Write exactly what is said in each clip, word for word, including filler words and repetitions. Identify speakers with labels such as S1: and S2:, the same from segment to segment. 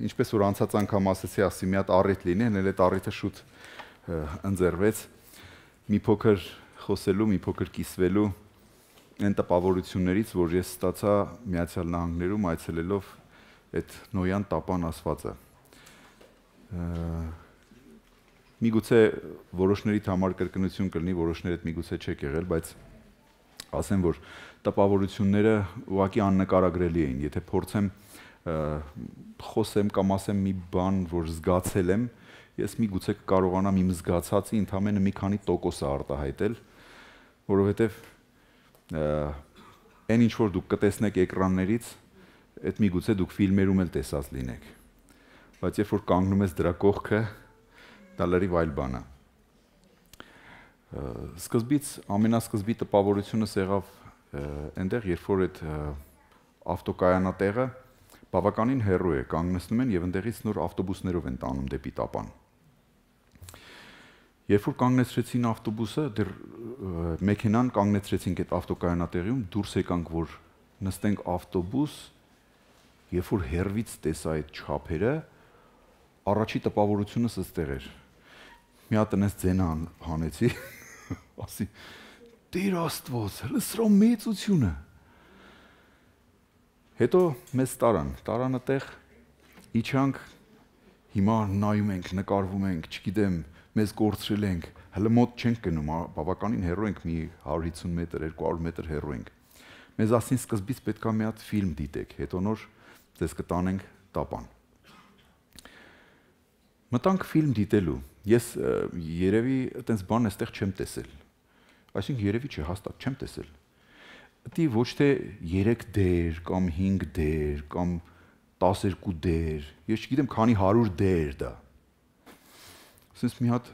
S1: Ինչպես որ անցած անգամ ասեցի, ասի մի հատ առիթ լինի, հենց այդ առիթը շուտ ընձեռվեց մի փոքր խոսելու, մի փոքր կիսվելու այն տպավորություններից, որ ես ստացա Միացյալ Նահանգներում այցելելով այդ Նոյան տապան ասվածը։ Միգուցե որոշներիդ համար կրկնություն կլինի, որոշներիդ միգուցե չեք եղել, բայց ասեմ, որ տպավորությունները ուղղակի աննկարագրելի էին, եթե փորձեմ խոսեմ կամ ասեմ մի բան, որ զգացել եմ, ես միգուցե կարողանամ իմ զգացածի ընդամենը մի քանի տոկոսը արտահայտել, որովհետև այն ինչ որ դուք կտեսնեք էկրաններից, այդ միգուցե դուք ֆիլմերում էլ տեսած լինեք, բայց երբ որ կանգնում ես դրա կողքը, դա լրիվ այլ բան է։ Սկզբից ամենասկզբի տպավորությունս եղավ այնտեղ, երբ որ այդ ավտոկայանատեղը բավականին հեռու է, կանգնեցնում են եւ այնտեղից նոր ավտոբուսներով են տանում դեպի տապան։ Երբ որ կանգնեցրեցին ավտոբուսը, դեռ մեքենան կանգնեցրեցինք այդ ավտոկայանատեղիում, դուրս եկանք, որ նստենք ավտոբուս, երբ որ հեռվից տեսա այդ չափերը, առաջի տպավորությունս ըստեղ էր։ Մի հատ այնպես ձենը հանեցի, ասի, Տեր Աստված, հələ սրա մեծությունը։ Հետո մեզ տարան, տարան այդտեղ, իջանք, հիմա նայում ենք, նկարվում ենք, չգիտեմ, մեզ կորցրել ենք, հələ մոտ չենք գնում, բավականին հեռու ենք, մի հարյուր հիսուն մետր, երկու հարյուր մետր հեռու ենք։ Մեզ ասին սկզբից պետք է մի հատ ֆիլմ դիտեք, հետո նոր ձեզ կտանենք տապան։ Մտանք ֆիլմ դիտելու, ես երևի այտենց բան այստեղ չեմ տեսել, այսինքն երևի չէ, հաստատ չեմ տեսել, դի ոչ թե երեք դեր, կամ հինգ դեր, կամ տասներկու դեր, ես չգիտեմ քանի հարյուր դեր դա, սենց մի հատ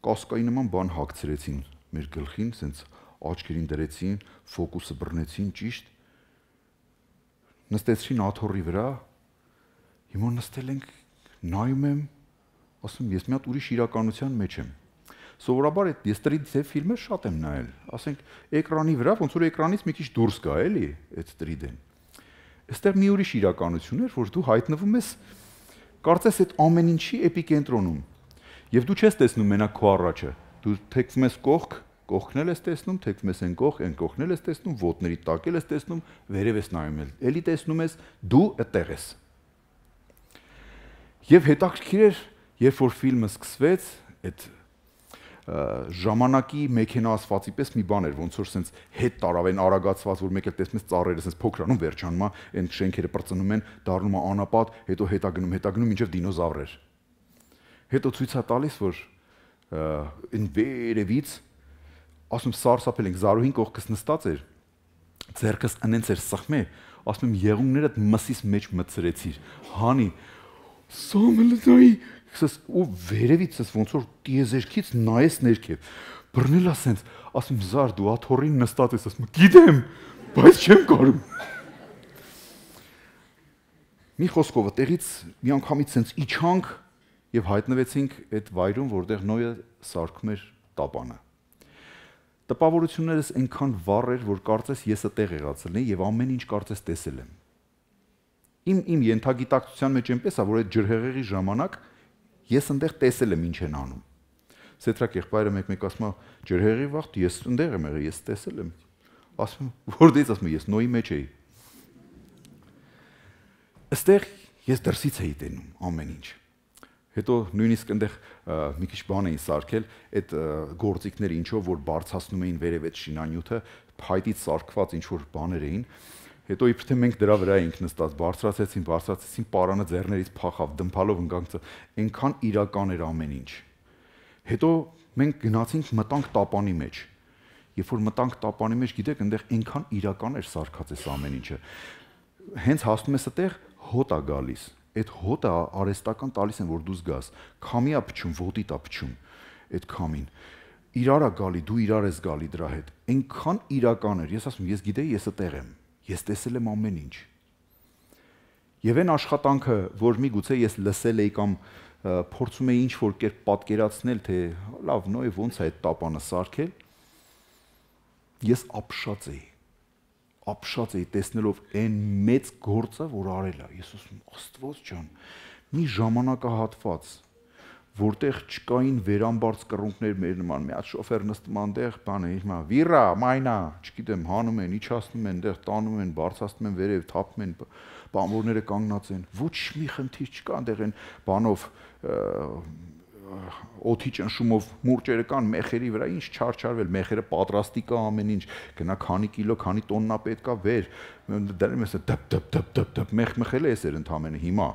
S1: կասկայի նման բան հագցրեցին մեր գլխին, սենց աչքերին դրեցին, ֆոկուսը բռնեցին ճիշտ, նստեցրին աթոռի վրա, հիմա նստել ենք, նայում եմ, ասում ես մի հատ ուրիշ իրականության մեջ եմ։ Սովորաբար ես տրի դե ֆիլմեր շատ եմ նայել, ասենք էկրանի վրա, ոնց որ էկրանից մի քիչ դուրս գա, էլի, այդ տրիդեն։ Այստեղ մի ուրիշ իրականություն էր, որ դու հայտնվում ես, կարծես այդ ամեն ինչի էպիկենտրոնում։ Եվ դու չես տեսնում մենակ քո առաջը, դու թեքվում ես կողք, կողքն էլ ես տեսնում, թեքվում ես այն կողք, այն կողքն էլ ես տեսնում, ոտների տակ էլ ես տեսնում, վերև ես նայում էլ, էլի տեսնում ես, դու այդտեղ ես։ Եվ հետաքրքիր էր, երբ որ ֆիլմը սկսվեց, այդ ժամանակի մեքենա ասվածի պես մի բան էր, ոնց որ սենց հետ տարավ են արագացված, որ մեկ էլ տեսնում ես ծառերը սենց փոքրանում վերջանում է, այն շենքերը պրծնում են, դառնում է անապատ, հետո հետա գնում, հետա գնում մինչև դինոզավրեր։ Հետո ցույց է տալիս, որ այն վերևից, ասում սարսափել ենք, Զարուհին կողքս նստած էր, ձեռքս անենց էր սխմե, ասում եմ եղունգներդ մսիս մեջ մտցրեցիր, հանի, սամելդայի, ու վերևից ես ոնց որ տիեզերքից նայես ներքև, բռնել ասենց, ասում Զար դու աթոռին նստած ես, ասում գիտեմ, բայց չեմ կարում։ Մի խոսքով տեղից մի անգամից սենց իջանք եւ հայտնվեցինք այդ վայրում, որտեղ Նոյը սարքում էր տապանը։ Տպավորություններս այնքան վառ էր, որ կարծես ես այդտեղ եղած լինեի եւ ամեն ինչ կարծես տեսել եմ։ Իմ իմ ենթագիտակցության մեջ այնպես է, որ այդ ջրհեղեղի ժամանակ ես այնտեղ տեսել եմ ինչ են անում։ Սետրակ եղբայրը մեկ-մեկ ասում է ջրհեղեղի վաղ ես այնտեղ եմ եղել, ես տեսել եմ։ Ասում որտեղից ասում ես Նոյի մեջ էի։ Այստեղ ես դրսից էի տենում ամեն ինչ։ Հետո նույնիսկ այնտեղ մի քիչ բան էին սարքել, այդ գործիքները ինչով որ բարձրացնում էին վերև այդ շինանյութը, փայտից սարքված ինչ որ բաներ էին։ Հետո իբր թե մենք դրա վրա էինք նստած, բարձրացեցին, բարձրացեցին, պարանը ձեռներից փախավ, դմփալով ընկանք, այնքան իրական էր ամեն ինչ։ Հետո մենք գնացինք մտանք տապանի մեջ։ Երբ որ մտանք տապանի մեջ, գիտեք, այնտեղ այնքան իրական էր սարքած այս ամեն ինչը։ Հենց հասնում ես այդտեղ հոտ է գալիս։ Այդ հոտը արհեստական տալիս են, որ դու զգաս, քամի է փչում, ոտիտ է փչում, այդ քամին, իրար է գալի, դու իրար ես գալի դրա հետ, այնքան իրական էր, ես ասում, ես գիտեի, ես այդտեղ եմ, ես տեսել եմ ամեն ինչ։ Եվ այն աշխատանքը, որ միգուցե ես լսել էի կամ փորձում էի ինչ-որ կերպ պատկերացնել, թե լավ, Նոյ ոնց է այդ տապանը սարքել, ես ապշած էի, ապշած էի տեսնելով այն մեծ գործը, որ արել է։ Ես ասում Աստված ջան, մի ժամանակահատված, որտեղ չկային վերամբարձ կռունկներ մեր նման, մի հատ շոֆեր նստում այնտեղ, բանը հիմա վիրա, մայնա, չգիտեմ, հանում են, իջացնում են, այնտեղ տանում են, բարձրացնում են վերև, թափում են, բանվորները կանգնած են։ Ոչ մի խնդիր չկա այնտեղ այն բանով օդի ճնշումով մուրճերը կան մեխերի վրա, ինչ չարչարվել, մեխերը պատրաստի կա ամեն ինչ, գնա քանի կիլո, քանի տոննա պետքա վեր, դեռ ես դպ դպ դպ դպ դպ մեխ մեխել է էսեր ընդամենը հիմա,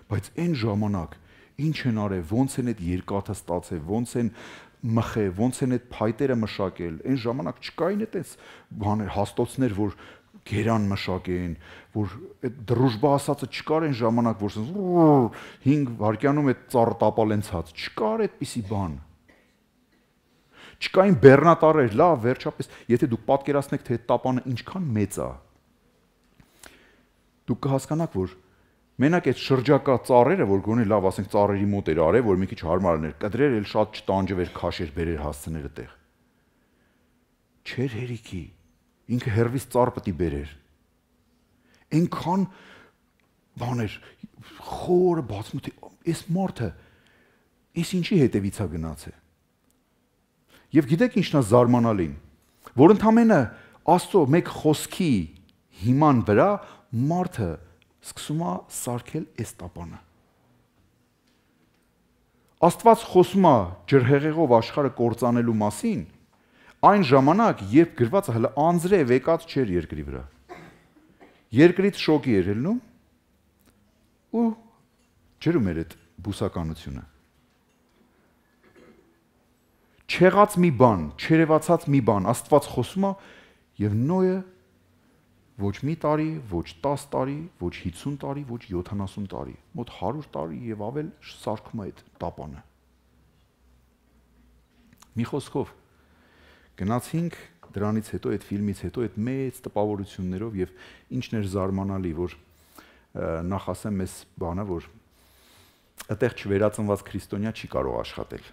S1: բայց այն ժամանակ ինչ են արել, ոնց են այդ երկաթը ստացել, ոնց են մխել, ոնց են այդ փայտերը մշակել, այն ժամանակ չկային այդպես բաներ, հաստոցներ, որ գերան մշակեն, որ այդ դրուժբա ասածը չկար այն ժամանակ, որ հինգ վայրկյանում այդ ծառը տապալենցած, չկար այդպիսի բան։ Չկային բեռնատարեր, լավ, վերջապես, եթե դուք պատկերացնեք, թե այդ տապանը ինչքան մեծ է, դուք կհասկանաք, որ մենակ այդ շրջակա ծառերը, որ գոնե լավ, ասենք ծառերի մոտ էր արել, որ մի քիչ հարմար էր, կդրեր էլ շատ չտանջվեր, քաշեր, բերեր հասցներ այդտեղ։ Չէր հերիքի, ինքը հերվից ծառ պետք է բերեր։ Այնքան բաներ, խորը բացմունքի, այս մարդը, այս ինչի հետևից է գնացել։ Եվ գիտեք ինչն է զարմանալին, որ ընդամենը Աստծո մեկ խոսքի հիման վրա մարդը սկսում է սարքել այս տապանը։ Աստված խոսում է ջրհեղեղով աշխարհը կործանելու մասին, այն ժամանակ, երբ գրվածը հələ անձրև եկած չէր երկրի վրա։ Երկրից շոկի էր ելնում ու ջրում էր այդ բուսականությունը։ Չեղած մի բան, չերևացած մի բան, Աստված խոսում է եւ Նոյը ոչ մի տարի, ոչ տաս տարի, ոչ հիսուն տարի, ոչ յոթանասուն տարի, մոտ հարյուր տարի եւ ավել սարքում է այդ տապանը։ Մի խոսքով գնացինք դրանից հետո այդ ֆիլմից հետո այդ մեծ տպավորություններով եւ ինչն էր զարմանալի, որ նախ ասեմ այս բանը, որ այդտեղ չվերածնված քրիստոնյա չի կարող աշխատել։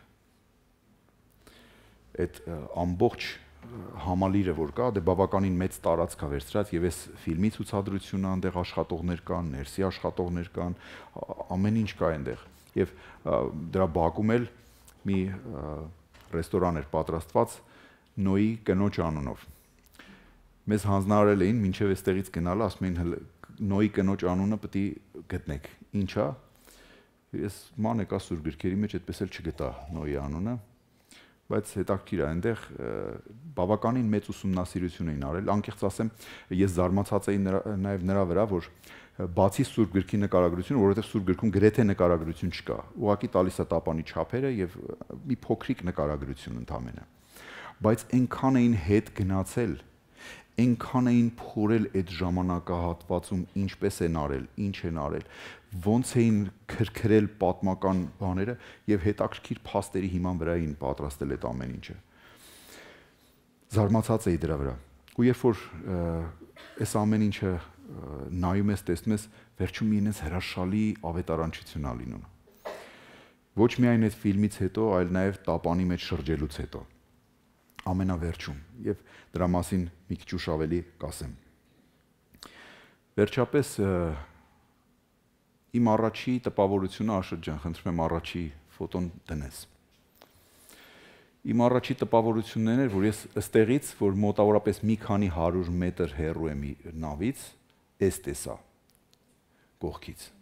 S1: Այդ ամբողջ համալիրը որ կա, դե բավականին մեծ տարածք է վերցրած եւ այս ֆիլմի ցուցադրությունը այնտեղ աշխատողներ կան, ներսի աշխատողներ կան, ամեն ինչ կա այնտեղ։ Եվ դրա բակում էլ մի ռեստորան էր պատրաստված Նոյի կնոջ անունով։ Մեզ հանձնարարել էին մինչև այստեղից գնալը, ասում էին Նոյի կնոջ անունը պետք է գտնեք։ Ինչա՞։ Ես ման եկա սուր գրքերի մեջ այդպես էլ չգտա Նոյի անունը։ Բայց հետաքրքիր է, այնտեղ բավականին մեծ ուսումնասիրություն էին արել, անկեղծ ասեմ, ես զարմացած էի նաև նրա վրա, որ բացի Սուրբ գրքի նկարագրությունը, որովհետև Սուրբ գրքում գրեթե նկարագրություն չկա, ուղղակի տալիս է տապանի չափերը եւ մի փոքրիկ նկարագրություն ընդամենը։ Բայց այնքան էին հետ գնացել, այնքան էին փորել այդ ժամանակահատվածում ինչպես են արել, ինչ են արել, ոնց էին քրքրել պատմական բաները եւ հետաքրքիր փաստերի հիման վրա էին պատրաստել այդ ամեն ինչը։ Զարմացած էի դրա վրա։ Ու երբ որ այս ամեն ինչը նայում ես, տեսնում ես, վերջում մի ինձ հրաշալի ավետարանչություն ա լինում։ Ոչ միայն այդ ֆիլմից հետո, այլ նաեւ տապանի մեջ շրջելուց հետո։ Ամենավերջում եւ դրա մասին մի քիչ ուշ ավելի կասեմ։ Վերջապես իմ առաջի տպավորությունը Աշոտ ջան, խնդրում եմ առաջի ֆոտոն դնես։ Իմ առաջի տպավորությունն էր, որ ես ըստեղից, որ մոտավորապես մի քանի հարյուր մետր հեռու եմ նավից, էս տեսա կողքից։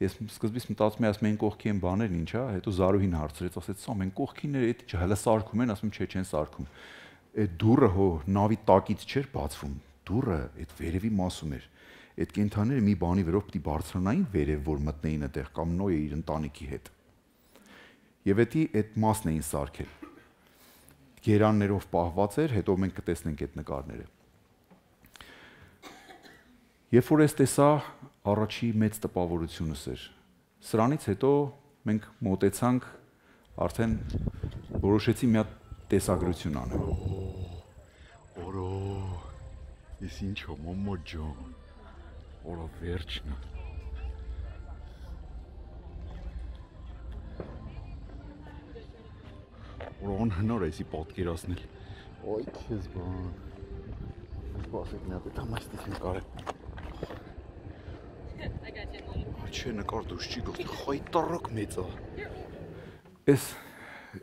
S1: Ես սկզբից մտածում եմ, ասում են կողքի են բաներն ինչ է, հետո Զարուհին հարցրեց, ասեց, «Սա մենք կողքիները այդ հələ սարքում են», ասում եմ, «Չէ, չեն սարքում»։ Այդ դուռը հո նավի տակից չէր բացվում, դուռը այդ վերևի մասում էր։ Այդ կենթանիները մի բանի վրով պիտի բարձրանային վերև, որ մտնեին այդտեղ կամ Նոյը իր ընտանիքի հետ։ Եվ էդի այդ մասն էին սարքել։ Գերաններով պահված էր, հետո մենք կտեսնենք այդ նկարները։ Երբ որ ես տեսա, առաջի մեծ տպավորությունս էր։ Սրանից հետո մենք մոտեցանք, արդեն որոշեցի մի հատ տեսագրություն անել։ Օրո, ես ինչ եմ, մամա ջան, օրո վերջն է։ Օրո անհնար է էսի պատկերացնել։ Ոյ քեզ բան։ Սպասեք մի հատ այդ համայստից նկարել։ Չէ, նկար դուրս չի գողի, խայտարակ մեծ է։ Էս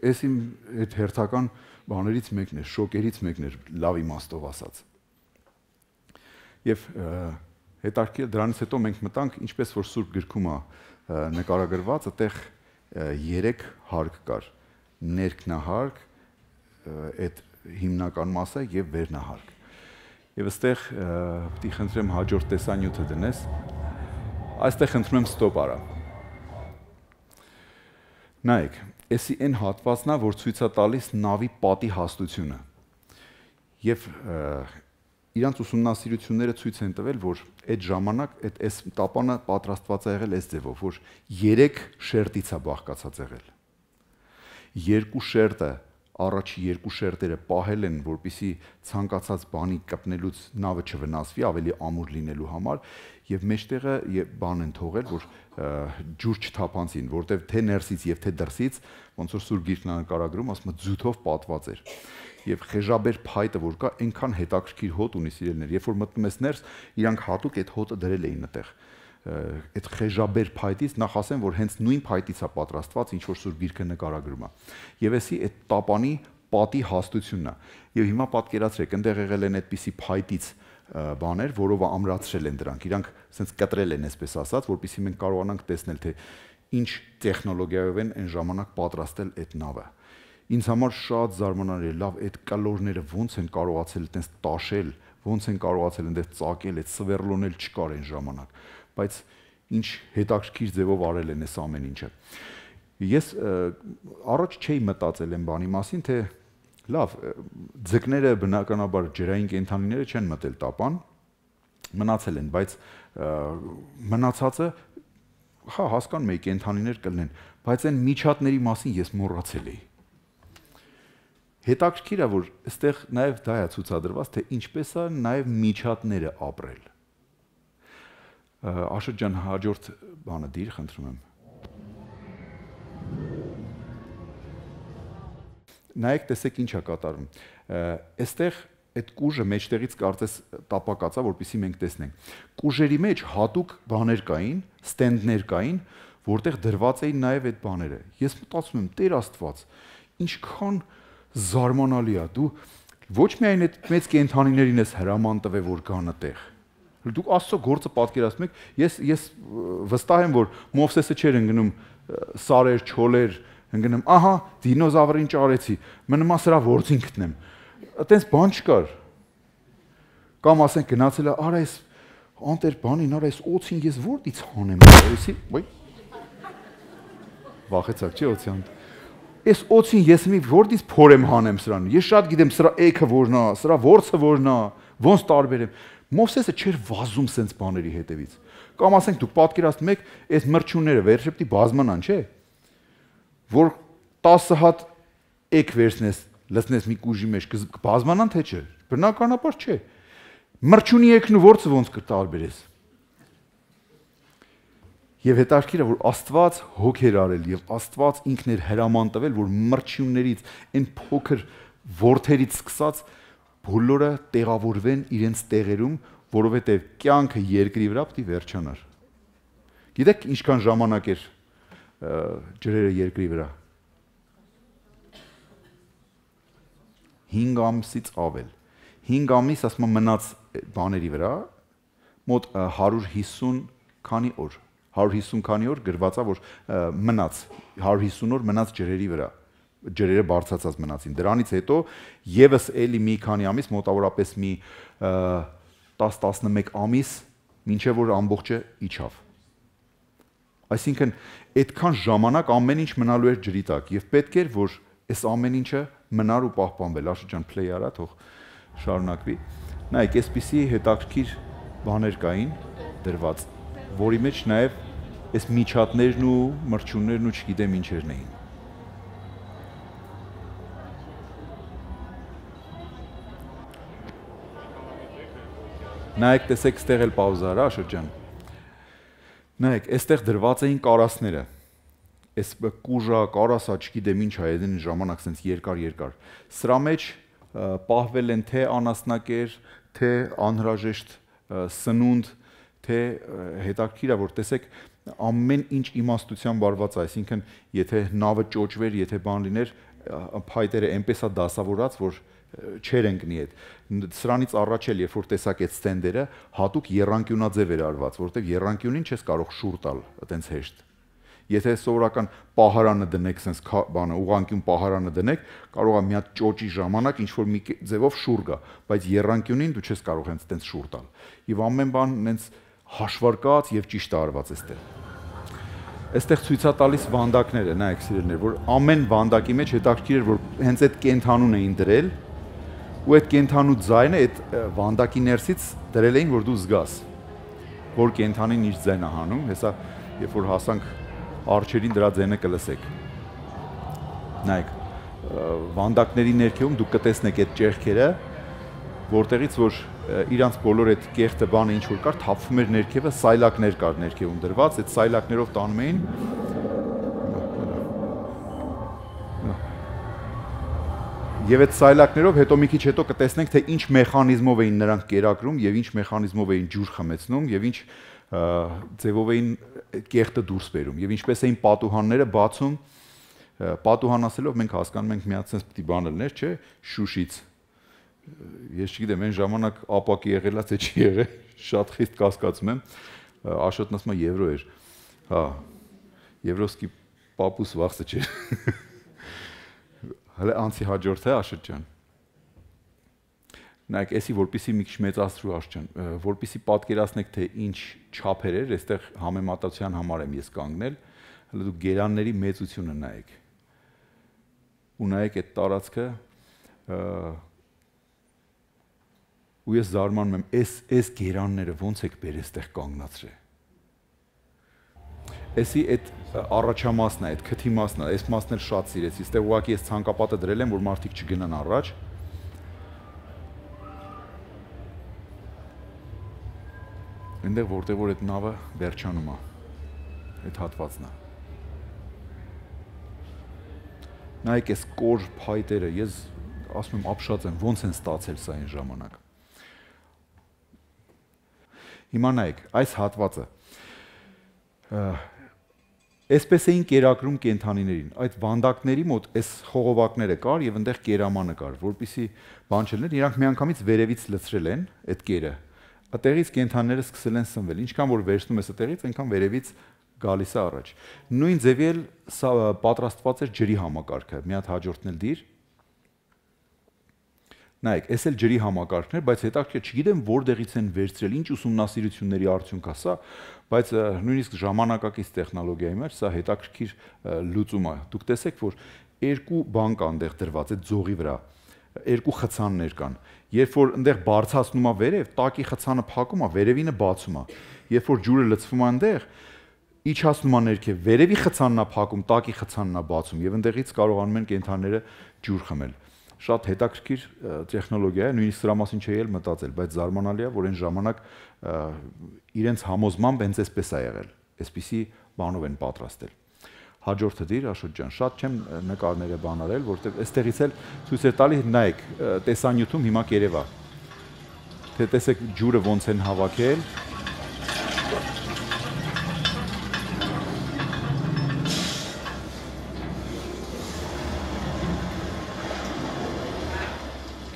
S1: էս իմ այդ հերթական բաներից մեկն է, շոկերից մեկն էր, լավ իմաստով ասած։ Եվ հետարքել դրանից հետո մենք մտանք, ինչպես որ Սուրբ գրքում է նկարագրված, այդտեղ երեք հարկ կար։ Ներքնահարկ, այդ հիմնական մասը եւ վերնահարկ։ Եվ այստեղ պիտի խնդրեմ հաջորդ տեսանյութը դնես։ Այստեղ խնդրում եմ ստոպ արա։ Նայեք, էսի այն հատվածն է, որ ցույց է տալիս նավի պատի հաստությունը։ Եվ իրանց ուսումնասիրությունները ցույց են տվել, որ այդ ժամանակ այդ այս տապանը պատրաստված է եղել այս ձևով, որ երեք շերտից է բաղկացած եղել։ Երկու շերտը առաջի երկու շերտերը պահել են, որպեսզի ցանկացած բանի կպնելուց նավը չվնասվի, ավելի ամուր լինելու համար, եւ մեջտեղը բան են թողել, որ ջուր չթափանցին, որտեվ թե ներսից եւ թե դրսից, ոնց որ Սուրբ Գիրքն նկարագրում, ասում է ձութով պատված էր։ Եվ խեժաբեր փայտը, որ կա, այնքան հետաքրքիր հոտ ունի սիրելներ, երբ որ մտնում ես ներս, իրանք հատուկ այդ հոտը դրել էին այդտեղ։ Այդ խեժաբեր փայտից նախ ասեմ, որ հենց նույն փայտից է պատրաստված, ինչ որ Սուրբ Գիրքը նկարագրում է։ Եվ էսի այդ տապանի պատի հաստությունն է։ Եվ հիմա պատկերացրեք, այնտեղ եղել են այդպիսի փայտից բաներ, որով ամրացրել են դրանք։ Իրանք ասենց կտրել են, այսպես ասած, որպեսզի մենք կարողանանք տեսնել, թե ինչ տեխնոլոգիայով են այն ժամանակ պատրաստել այդ նավը։ Ինձ համար շատ զարմանալի է, լավ, այդ կալորները ոնց են կարողացել այդպես տաշել, ոնց են կարողացել այնտեղ ծակել, այդ սվերլոնել չկար այն ժամանակ, բայց ինչ հետաքրքիր ձևով արել են այս ամեն ինչը։ Ես առաջ չէի մտածել այն բանի մասին, թե լավ, ձկները բնականաբար ջրային կենդանիները չեն մտել տապան, մնացել են, բայց մնացածը հա հասկանում եի կենդանիներ կլինեն, բայց այն միջատների մասին ես մոռացել էի։ Հետաքրքիր է, որ այստեղ նաև դա է ցուցադրված, թե ինչպես է նաև միջատները ապրել։ Աշոտ ջան, հաջորդ բանը դիր, խնդրում եմ։ Նայեք, տեսեք ինչ է կատարում։ Այստեղ այդ կուժը մեջտեղից կարծես տապակած է, որպեսզի մենք տեսնենք։ Կուժերի մեջ հատուկ բաներ կային, ստենդներ կային, որտեղ դրված էին նաև այդ բաները։ Ես մտածում եմ, Տեր Աստված, ինչքան զարմանալի է, դու ոչ միայն այդ մեծ կենդանիներին ես հրաման տվել, որ գան այդտեղ։ Դուք Աստծո գործը պատկերացնում եք, ես ես վստահ եմ, որ Մովսեսը չէր ընկնում սարեր, չոլեր, ընկնում, ահա, դինոզավրին ճարեցի, մնում է սրա ворցին գտնեմ։ Այտենց բան չկար։ Կամ ասենք գնացել է, արա այս անտեր բանին, արա այս օծին ես որտից հանեմ, այսի, ոյ։ Վախեցակ, չի օծյան։ Այս օծին ես մի որտից փորեմ հանեմ սրան։ Ես շատ գիտեմ սրա էքը որն է, սրա ворցը որն է, ոնց տարբերեմ։ Մովսեսը չէր վազում սենց բաների հետևից։ Կամ ասենք դուք պատկերացնում եք, այս մրջունները վերջը պիտի բազմանան, չէ՞։ Որ տասը հատ էք վերցնես, լցնես մի կուժի մեջ, կբազմանան թե չէ։ Բնականաբար չէ։ Մրջունի էքն ու ворցը ոնց կտարբերես։ Եվ հետաքրքիր է, որ Աստված հոգ էր արել եւ Աստված ինքն էր հրաման տվել, որ մրջյուններից, այն փոքր ворթերից սկսած բոլորը տեղավորվեն իրենց տեղերում, որովհետեւ կյանքը երկրի վրա պիտի վերջանար։ Գիտեք ինչքան ժամանակ էր ջրերը երկրի վրա։ հինգ ամսից ավել։ հինգ ամիս ասում մնաց բաների վրա, մոտ հարյուր հիսուն քանի օր։ հարյուր հիսուն քանի օր գրված է, որ մնաց, հարյուր հիսուն օր մնաց ջրերի վրա, ջրերը բարձրացած մնացին։ Դրանից հետո եւս էլի մի քանի ամիս, մոտավորապես մի տասը տասնմեկ ամիս, մինչեւ որ ամբողջը իջավ։ Այսինքն այդքան ժամանակ ամեն ինչ մնալու էր ջրի տակ եւ պետք էր, որ այս ամեն ինչը մնար ու պահպանվել։ Աշոտ ջան, play արա, թող շարունակվի։ Նայեք, այսպիսի հետաքրքիր բաներ կային դրված, որի մեջ նաև այս միջատներն ու մրջյուններն ու չգիտեմ ինչերն էին։ Նայեք, տեսեք, ստեղ էլ պաուզա արա, Աշոտ ջան։ Նայեք, այստեղ դրված էին կարասները։ Այս կուժա, կարասա, չգիտեմ ինչ է, այն ժամանակ սենց երկար-երկար։ Սրա մեջ պահվել են թե անասնակեր, թե անհրաժեշտ սնունդ, թե հետաքրքիր է, որ տեսեք ամեն ինչ իմաստության վարված է, այսինքն եթե նավը ճոճվեր, եթե բան լիներ, փայտերը այնպես է դասավորած, որ չեր ընկնի այդ։ Սրանից առաջ էլ երբ որ տեսակ այդ ստենդերը, հատուկ եռանկյունաձև էր արված, որովհետև եռանկյունին չես կարող շուռ տալ, այտենց հեշտ։ Եթե սովորական պահարանը դնեք, sense բանը ուղղանկյուն պահարանը դնեք, կարող է մի հատ ճոճի ժամանակ ինչ որ մի ձևով շուռ գա, բայց եռանկյունին դու չես կարող հենց այտենց շուռ տալ։ Եվ ամեն բան հենց հաշվարկած եւ ճիշտ արված էստեղ։ Այստեղ ցույց է տալիս վանդակները, նայեք սիրելիներ, որ ամեն վանդակի մեջ հետաքրքիր էր, որ հենց այդ կենթանուն էին դրել, ու այդ կենթանու ձայնը այդ վանդակի ներսից դրել էին, որ դու զգաս, որ կենթանին իր ձայն է հանում, հեսա երբ որ հասանք արջերին դրա ձայնը կլսեք։ Նայեք, վանդակների ներքևում դուք կտեսնեք այդ ճեղքերը, որտեղից որ իրանց բոլոր այդ կեղտը բանը ինչ որ կար, թափվում էր ներքևը, սայլակներ կար ներքևում դրված, այդ սայլակներով տանում էին Եվ այդ սայլակներով հետո մի քիչ հետո կտեսնենք, թե ինչ մեխանիզմով էին նրանք կերակրում եւ ինչ մեխանիզմով էին ջուր խմեցնում եւ ինչ ձևով էին կեղտը դուրս բերում եւ ինչպես էին պատուհանները բացում, պատուհան ասելով մենք հասկանում ենք միած sense պիտի բանը լիներ, չէ, Շուշից։ Ես չգիտեմ, այն ժամանակ ապակի եղելա, թե չի եղել, շատ խիստ կասկածում եմ, Աշոտն ասում է եվրո էր։ Հա, եվրոսկի պապուս վախսը չէր։ Հələ անցի հաջորդ է Աշոտ ջան։ Նայեք, էսի որպեսի մի քիչ մեծացրու Աշոտ ջան, որպեսի պատկերացնեք, թե ինչ չափեր էր, այստեղ համեմատության համար եմ ես կանգնել, հələ դու գերանների մեծությունը նայեք։ Ու նայեք այդ տարածքը, ու ես զարմանում եմ, այս այս գերանները ոնց եք բեր այստեղ կանգնացրել։ Էսի այդ առաջամասն է, այդ քթի մասն է, այս մասն էլ շատ սիրեցի, այստեղ ուղղակի ես ցանկապատը դրել եմ, որ մարդիկ չգնան առաջ։ Այնտեղ որտեղ որ այդ նավը վերջանում է, այդ հատվածն է։ Նայեք այս կոր փայտերը, ես ասում եմ ապշած եմ, ոնց են ստացել սա այն ժամանակ։ Հիմա նայեք, այս հատվածը Այսպես էին կերակրում կենթանիներին, այդ վանդակների մոտ այս խողովակները կար եւ այնտեղ կերամանը կար, որպեսզի բան չլներ, իրանք միանգամից վերևից լցրել են այդ կերը։ Այդտեղից կենթանիները սկսել են սնվել, ինչքան որ վերցնում ես այդտեղից, այնքան վերևից գալիս է առաջ։ Նույն ձևի էլ սա պատրաստված էր ջրի համակարգը, մի հատ հաջորդն էլ դիր։ Նայեք, այս էլ ջրի համակարգն էր, բայց հետաքրքիր չգիտեմ որտեղից են վերցրել, ինչ ուսումնասիրությունների արդյունք է սա, բայց նույնիսկ ժամանակակից տեխնոլոգիայի մեջ սա հետաքրքիր լուծում է։ Դուք տեսեք, որ երկու բան կան այնտեղ դրված այդ ձողի վրա, երկու խցաններ կան։ Երբ որ այնտեղ բարձրացնում է վերև, տակի խցանը փակում է, վերևինը բացում է։ Երբ որ ջուրը լցվում է այնտեղ, իջացնում է ներքև, վերևի խցանն է փակում, տակի խցանն է բացում եւ այնտեղից կարողանում են կենթանիները ջուր խմել։ Շատ հետաքրքիր տեխնոլոգիա է, նույնիսկ սրա մասին չէի էլ մտածել, բայց զարմանալի է, որ այն ժամանակ իրենց համոզմամբ հենց այսպես է եղել, այսպիսի բանով են պատրաստել։ Հաջորդը դիր Աշոտ ջան, շատ չեմ նկարները բան արել, որտեղ այստեղից էլ ցույց է տալի, նայեք, տեսանյութում հիմա կերևա։ Թե տեսեք ջուրը ոնց են հավաքել։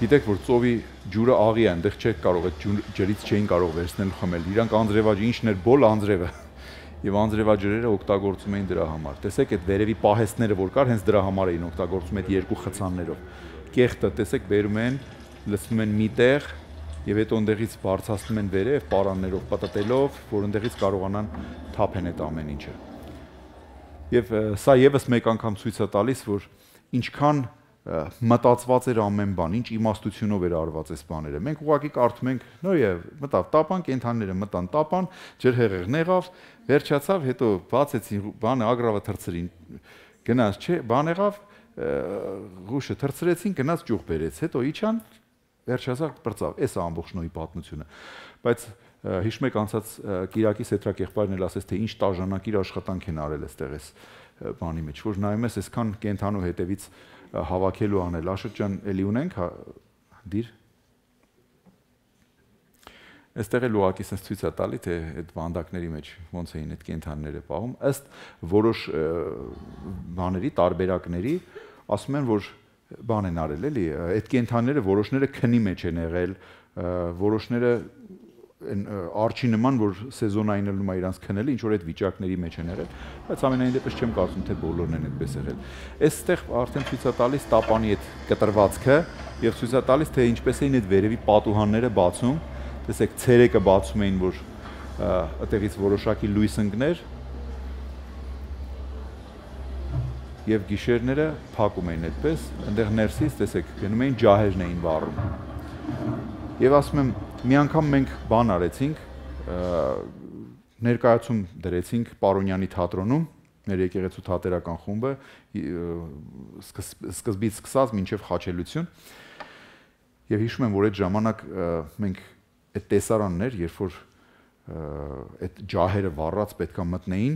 S1: Գիտեք, որ ծովի ջուրը աղի է, այնտեղ չեք կարող, այդ ջրից չէին կարող վերցնել խմել։ Իրանք անձրևաջրի ինչն էր բոլ անձրևը։ Եվ անձրևաջրերը օգտագործում էին դրա համար։ Տեսեք, այդ վերևի պահեստները որ կար, հենց դրա համար էին օգտագործում այդ երկու խցաններով։ Կեղտը, տեսեք, բերում են, լցնում են մի տեղ եւ հետո այնտեղից բարձրացնում են վերև պարաններով պատտելով, որ այնտեղից կարողանան թափեն այդ ամեն ինչը։ Եվ սա եւս մեկ անգամ ցույց է տալիս, որ ինչքան մտածված էր ամեն բան, ինչ իմաստությունով էր արված այս բաները։ Մենք ուղղակի կարդում ենք, նոյե, մտավ տապան, կենթանիները մտան տապան, ջրհեղեղն եղավ, վերջացավ, հետո բացեցին բանը, ագրավը թրցրին, գնաց, չէ, բան եղավ, ղուշը թրցրեցին, գնաց ճյուղ բերեց, հետո իջան, վերջացավ, բրծավ, էս է ամբողջ նոյի պատմությունը։ Բայց հիշում եք անցած Կիրակի Սեթրակեղբայրն էլ ասեց, թե ինչ տաժանակիր աշխատանք են արել այստեղ այս բանի մեջ, որ նայում ես այսքան կենթանու հետևից հավաքելու անել։ Աշոտ ջան, էլի ունենք դիր։ Այստեղ էլ ուղղակի sense ցույց է տալի, թե այդ վանդակների մեջ ոնց էին այդ կենդանիները պահում, ըստ որոշ բաների, տարբերակների, ասում են, որ բան են արել, էլի, այդ կենդանիները որոշները քնի մեջ են եղել, որոշները արջի նման, որ սեզոնային ելնում է իրանց քնելը, ինչ որ այդ վիճակների մեջ են եղել, բայց ամենայն դեպս չեմ կարծում, թե բոլորն են այդպես եղել։ Այստեղ արդեն ցույց է տալիս տապանի այդ կտրվածքը եւ ցույց է տալիս, թե ինչպես էին այդ վերևի պատուհանները բացում։ Տեսեք, ցերեկը բացում էին, որ այդտեղից որոշակի լույս ընկներ եւ գիշերները փակում էին այդպես, այնտեղ ներսից, տեսեք, գնում էին ջահերն էին վառում։ Եվ ասում եմ, մի անգամ մենք բան արեցինք, ներկայացում դրեցինք Պարոնյանի թատրոնում, մեր եկեղեցու թատերական խումբը, սկզբից սկսած մինչև խաչելություն։ Եվ հիշում եմ, որ այդ ժամանակ մենք այդ տեսարանն էր, երբ որ այդ ջահերը վառած պետքա մտնեին,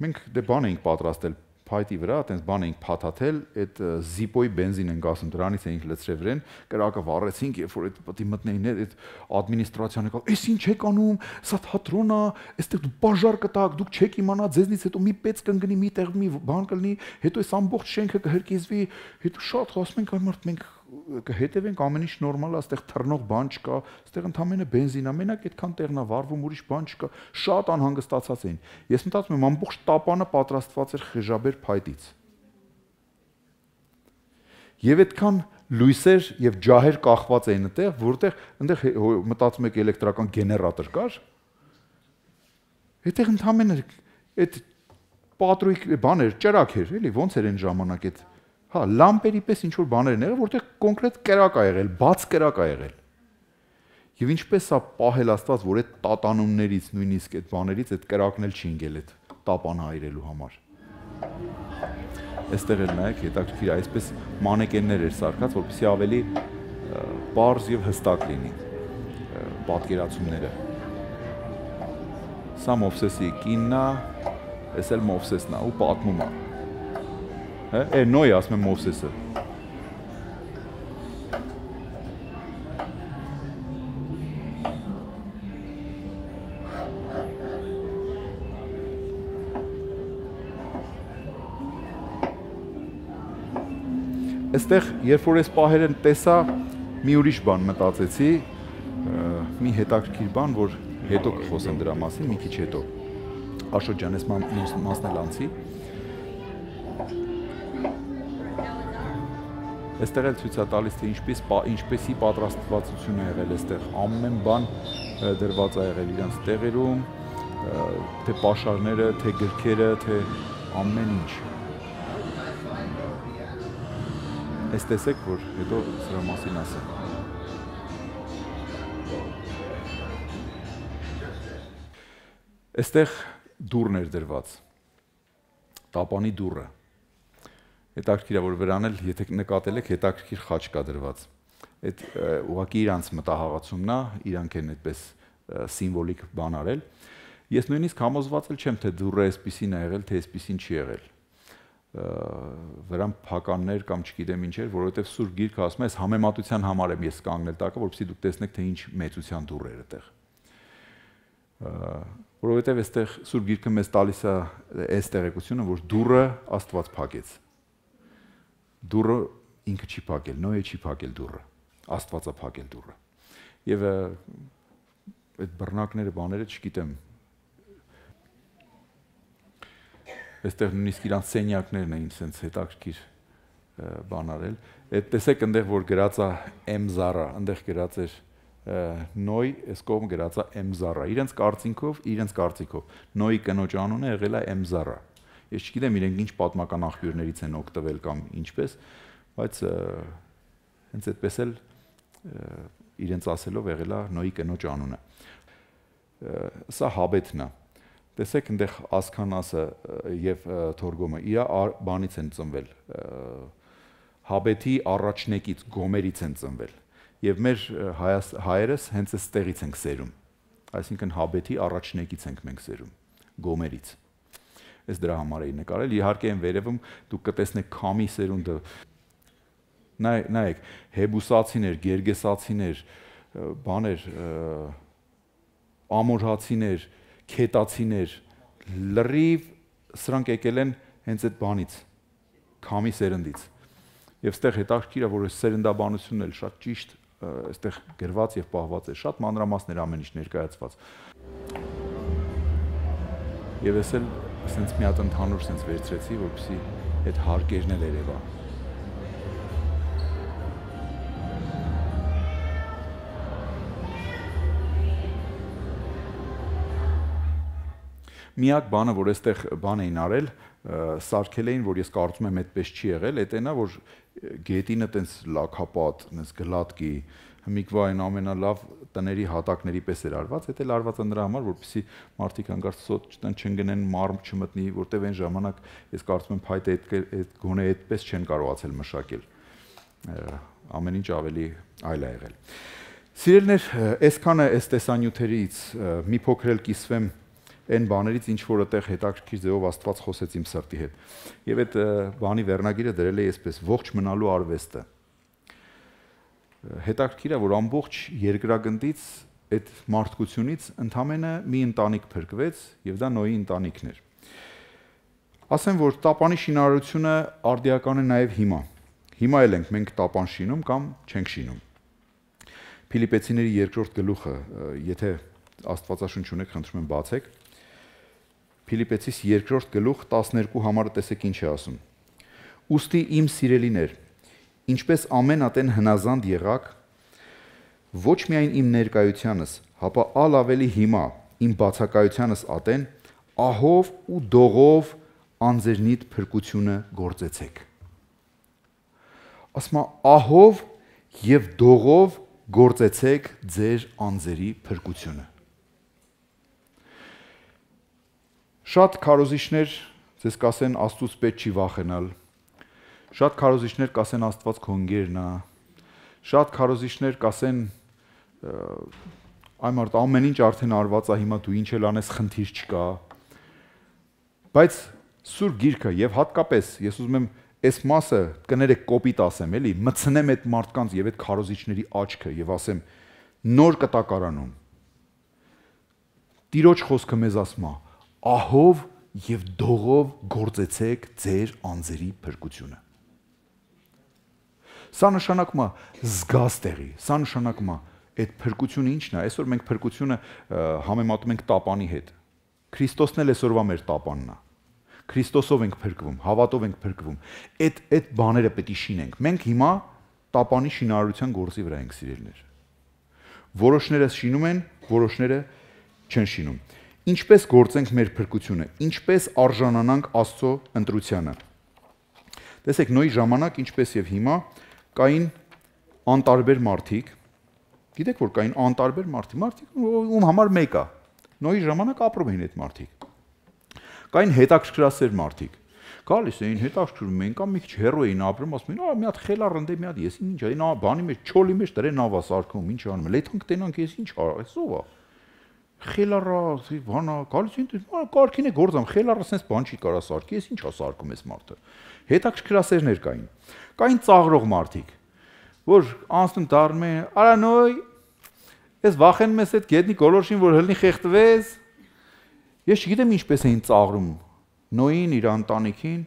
S1: մենք դե բան էինք պատրաստել փայտի վրա, այտենց բան էինք փաթաթել, այդ զիպոյի բենզին ենք ասում, դրանից էինք լցրել վրան, կրակը վառեցինք, երբ որ այդ պետք է մտնեին, այդ ադմինիստրացիան եկավ, «Էս ինչ եք անում, սա թատրոն է, այստեղ դուք բաժար կտաք, դուք չեք իմանա, ձեզնից հետո մի պեծ կընկնի, մի տեղ մի բան կլինի, հետո այս ամբողջ շենքը կհրկիզվի», հետո շատ խոսում ենք, այ մենք կհետևենք, ամեն ինչ նորմալ է, այստեղ թռնող բան չկա, այստեղ ընդամենը բենզին է, մենակ այդքան տեղն է վառվում, ուրիշ բան չկա, շատ անհանգստացած էին։ Ես մտածում եմ, ամբողջ տապանը պատրաստված էր խժաբեր փայտից։ Եվ այդքան լույսեր եւ ջահեր կախված էին այնտեղ, որտեղ այնտեղ մտածում եք էլեկտրական գեներատոր կար։ Այդտեղ ընդամենը այդ պատրույք բաներ, ճրակ էր, էլի, ոնց էր այն ժամանակ այդ հա, լամպերի պես ինչ-որ բաներ են եղել, որտեղ կոնկրետ կրակ ա եղել, բաց կրակ ա եղել։ Եվ ինչպես է պահել Աստված, որ այդ տատանումներից, նույնիսկ այդ բաներից այդ կրակն էլ չի ընկել այդ տապանը այրելու համար։ Այստեղ էլ նայեք, հետաքրքիր այսպես մանեկեններ էր սարքած, որպեսզի ավելի պարզ եւ հստակ լինի պատկերացումները։ Սա Մովսեսի կինն է, այս էլ Մովսեսն է ու պատմում է։ Է նոյ ասում եմ Մովսեսը։ Այստեղ, երբ որ այս պահերը տեսա, մի ուրիշ բան մտածեցի, մի հետաքրքիր բան, որ հետո կխոսեմ դրա մասին, մի քիչ հետո։ Աշոտ ջան, ես մասն էլ անցի։ Այստեղ էլ ցույց է տալիս, թե ինչպես ինչպեսի պատրաստվածություն է եղել այստեղ, ամեն բան դրված է եղել իրենց տեղերում, թե պաշարները, թե գրքերը, թե ամեն ինչ։ Այս տեսեք, որ հետո սրա մասին ասեմ։ Այստեղ դուռն էր դրված, տապանի դուռը։ Հետաքրքիր է, որ վրան էլ, եթե նկատել եք, հետաքրքիր խաչ կա դրված։ Այդ ուղղակի իրանց մտահաղացումն է, իրանք են այդպես սիմվոլիկ բան արել։ Ես նույնիսկ համոզված էլ չեմ, թե դուռը այսպիսին է եղել, թե այսպիսին չի եղել։ Վրան փականներ կամ չգիտեմ ինչ էր, որովհետև Սուրբ Գիրքը ասում է, այս համեմատության համար եմ ես կանգնել տակը, որպեսզի դուք տեսնեք, թե ինչ մեծության դուռ էր այդտեղ։ Որովհետև այստեղ Սուրբ Գիրքը մեզ տալիս է այս տեղեկությունը, որ դուռը Աստված փակեց։ Դուռը ինքը չի փակել, Նոյը չի փակել դուռը, Աստված է փակել դուռը։ Եվ այդ բռնակները, բաները չգիտեմ։ Այստեղ նույնիսկ իրանց սենյակներն էին sense հետաքրքիր բան արել։ Այդ տեսեք այնտեղ որ գրած է Էմզարա, այնտեղ գրած էր Նոյ, այս կողմ գրած է Էմզարա։ Իրենց կարծիքով, իրենց կարծիքով Նոյի կնոջ անունը եղել է Էմզարա։ Ես չգիտեմ իրենք ինչ պատմական աղբյուրներից են օգտվել կամ ինչպես, բայց հենց այդպես էլ իրենց ասելով եղել է Նոյի կնոջ անունը։ Սա Հաբեթն է։ Տեսեք այնտեղ Ասքանասը եւ Թորգոմը իր բանից են ծնվել։ Հաբեթի առաջնեկից, Գոմերից են ծնվել։ Եվ մեր հայերս հենց այստեղից ենք սերում։ Այսինքն Հաբեթի առաջնեկից ենք մենք սերում, Գոմերից։ Այս դրա համար էի նկարել։ Իհարկե այն վերևում դուք կտեսնեք Քամի սերունդը։ Նայեք, Հեբուսացիներ, Գերգեսացիներ, բաներ, ամորհացիներ, քետացիներ, լրիվ սրանք եկել են հենց այդ բանից, քամի սերնդից։ Եվ այստեղ հետաքրքիր է, որ այս սերնդաբանությունն էլ շատ ճիշտ այստեղ գրված եւ պահված է, շատ մանրամասներ ամեն ինչ ներկայացված։ Եվ ես էլ ասենց մի հատ ընդհանուր sense վերցրեցի, որպեսզի այդ հարկերն էլ երևա։ Միակ բանը, որ այստեղ բան էին արել, սարքել էին, որ ես կարծում եմ այդպես չի եղել, այդ այնա, որ գետինը տենց լաքապատ, տենց գլատկի, հմիկվա այն ամենալավ տների հատակների պես էր արված, այդ էլ արված է նրա համար, որպեսզի մարդիկ հանկարծ սոտ չընկնեն, մարմ չմտնի, որտեվ այն ժամանակ ես կարծում եմ փայտը այդ գոնե այդպես չեն կարողացել մշակել։ Ամեն ինչ ավելի այլ է եղել։ Սիրելիներ, այսքանը այս տեսանյութերից մի փոքր էլ կիսվեմ այն բաներից, ինչ որ այդտեղ հետաքրքիր ձևով Աստված խոսեց իմ սրտի հետ։ Եվ այդ բանի վերնագիրը դրել է այսպես՝ ողջ մնալու արվեստը։ Հետաքրքիր է, որ ամբողջ երկրագնդից այդ մարդկությունից ընդամենը մի ընտանիք փրկվեց, եւ դա Նոյի ընտանիքն էր։ Ասեմ, որ տապանի շինարարությունը արդիական է նաեւ հիմա։ Հիմա էլ ենք մենք տապան շինում կամ չենք շինում։ Փիլիպեցիների երկրորդ գլուխը, եթե Աստվածաշունչ ունեք, խնդրում եմ բացեք։ Փիլիպեցիս երկրորդ գլուխ տասներկու համարը տեսեք ինչ է ասում։ Ուստի իմ սիրելիներ, ինչպես ամեն ատեն հնազանդ եղաք, ոչ միայն իմ ներկայությանս, հապա ալ ավելի հիմա իմ բացակայությանս ատեն, ահով ու դողով անձերնիդ փրկությունը գործեցեք։ Ասում է ահով եւ դողով գործեցեք ձեր անձերի փրկությունը։ Շատ քարոզիչներ ձեզ կասեն Աստծուց պետք չի վախենալ։ Շատ քարոզիչներ կասեն Աստված քո ընկերն է։ Շատ քարոզիչներ կասեն այ մարդ ամեն ինչ արդեն արված է, հիմա դու ինչ էլ անես, խնդիր չկա։ Բայց Սուրբ Գիրքը եւ հատկապես ես ուզում եմ այս մասը կներեք կոպիտ ասեմ, էլի, մցնեմ այդ մարդկանց եւ այդ քարոզիչների աչքը եւ ասեմ նոր կտակարանում։ Տիրոջ խոսքը մեզ ասում է. ահով եւ դողով գործեցեք ձեր անձերի փրկությունը։ Սա նշանակում է զգաս տեղի, սա նշանակում է այդ փրկությունը ինչն է։ Այսօր մենք փրկությունը համեմատում ենք տապանի հետ։ Քրիստոսն էլ այսօրվա մեր տապանն է։ Քրիստոսով ենք փրկվում, հավատով ենք փրկվում։ Այդ այդ բաները պետք է շինենք։ Մենք հիմա տապանի շինարարության գործի վրա ենք, սիրելիներ։ Որոշները շինում են, որոշները չեն շինում։ Ինչպես գործենք մեր փրկությունը, ինչպես արժանանանք Աստծո ընտրությանը։ Տեսեք, Նոյի ժամանակ, ինչպես եւ հիմա, կային անտարբեր մարդիկ։ Գիտեք, որ կային անտարբեր մարդիկ, մարդիկ ում համար մեկ է։ Նոյի ժամանակ ապրում էին այդ մարդիկ։ Կային հետաքրքրասեր մարդիկ։ Գալիս էին, հետաքրքրում էին, կամ մի քիչ հեռու էին ապրում, ասում էին, «Ա մի հատ խելառ ընդ է, մի հատ ես ինչ է, նա բանի մեջ, չոլի մեջ դրեն նավա սարքում, ինչ անում, լեթանք տենանք, ես ինչ արա, այս ով է»։ Խելառա, բանա, գալիս են, կարքին է գործամ, խելառը sense բան չի կարա սարքի, ես ինչա սարքում ես մարդը։ Հետաքրքրասերներ կային։ Կային ծաղրող մարդիկ, որ անցնում դառնում են, «Արա Նոյ, ես վախենում ես այդ գետնի գոլորշին, որ հլնի խեղդվես»։ Ես չգիտեմ ինչպես էին ծաղրում Նոյին, իր ընտանիքին,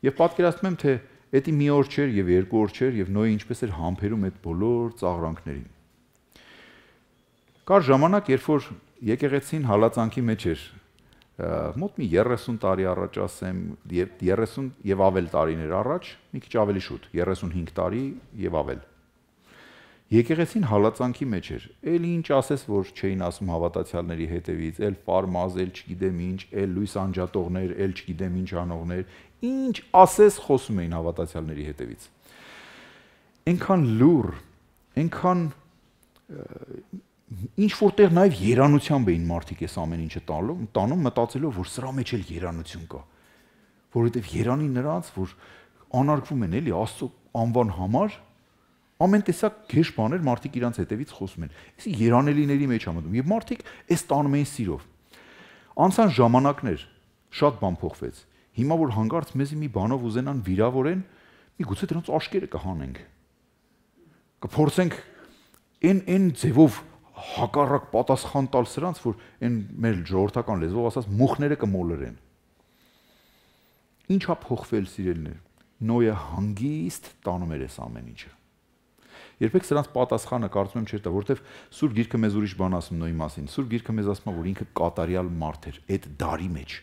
S1: եւ պատկերացնում եմ, թե դա մի օր չէր եւ երկու օր չէր եւ Նոյը ինչպես էր համբերում այդ բոլոր ծաղրանքներին։ Կար ժամանակ, երբ որ եկեղեցին հալածանքի մեջ էր, մոտ մի երեսուն տարի առաջ ասեմ, երեսուն եւ ավել տարիներ առաջ, մի քիչ ավելի շուտ, երեսունհինգ տարի եւ ավել։ Եկեղեցին հալածանքի մեջ էր, էլ ինչ ասես, որ չէին ասում հավատացյալների հետևից, էլ ֆարմազ, էլ չգիտեմ ինչ, էլ լույս անջատողներ, էլ չգիտեմ ինչ անողներ, ինչ ասես խոսում էին հավատացյալների հետևից։ Այնքան լուր, այնքան ինչ որտեղ նաև երանությամբ էին մարդիկ այս ամեն ինչը տանում, տանում մտածելով, որ սրա մեջ էլ երանություն կա, որովհետև երանի նրանց, որ անարգվում են էլի Աստծո անվան համար, ամեն տեսակ գեշ բաներ մարդիկ իրանց հետևից խոսում են։ Այսի երանելիների մեջ է մտնում, եւ մարդիկ այս տանում էին սիրով։ Անցան ժամանակներ, շատ բան փոխվեց։ Հիմա որ հանկարծ մեզի մի բանով ուզենան վիրավորեն, միգուցե դրանց աշկերը կհանենք։ Կփորձենք Այն այն ձևով հակառակ պատասխան տալ սրանց, որ այն մեր ժողովրդական լեզվով ասած մուխները կմոլորեն։ Ինչ է փոխվել, սիրելիներ։ Նոյը հանգիստ տանում էր այս ամեն ինչը։ Երբեք սրանց պատասխանը կարծում եմ չէր տա, որովհետև Սուրբ Գիրքը մեզ ուրիշ բան ասում Նոյի մասին։ Սուրբ Գիրքը մեզ ասում է, որ ինքը կատարյալ մարդ էր, այդ դարի մեջ։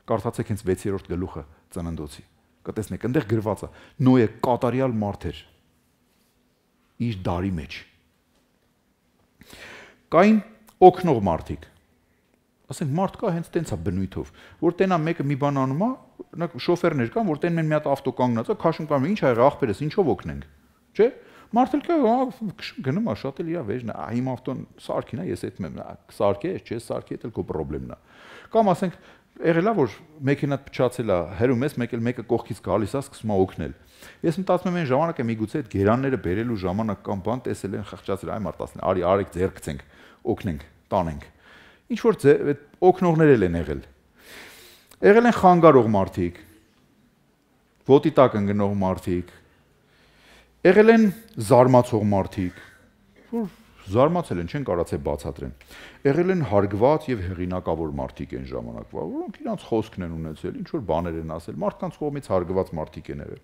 S1: Կարդացեք հենց վեցերորդ գլուխը Ծննդոցի։ Կտեսնեք, այնտեղ գրված է Նոյը կատարյալ մարդ էր իր դարի մեջ։ Կային օգնող մարդիկ։ Ասենք մարդ կա հենց տենց է բնույթով, որ տենա մեկը մի բան անում է, նա շոֆերներ կան, որ տեն մեն մի հատ ավտո կանգնած է, քաշում կան, ինչ ա եղել աղբերս, ինչով օգնենք, չէ՞։ Մարդը կա, գնում է, շատ էլ իր վեճն է, իմ ավտոն սարքին է, ես այդմ եմ, սարքե, չէ, սարքե, դա քո խնդիրն է։ Կամ ասենք եղել է, որ մեքենան փչացել է, հերում ես, մեկ էլ մեկը կողքից գալիս է, սկսում է օգնել։ Ես մտածում եմ այն ժամանակը միգուցե այդ գերանները բերելու ժամանակ կամ բան տեսել են խղճացել, այ մարդ ասեն, արի արեք ձեռք գցենք, օգնենք, տանենք։ Ինչ որ այդ օգնողներ են եղել։ Եղել են խանգարող մարդիկ, ոտի տակ ընկնող մարդիկ, եղել են զարմացող մարդիկ, որ զարմացել են, չեն կարացել բացատրեն։ Եղել են հարգված եւ հեղինակավոր մարդիկ են ժամանակվա, որոնք իրանց խոսքն են ունեցել, ինչ որ բաներ են ասել, մարդկանց կողմից հարգված մարդիկ են եղել։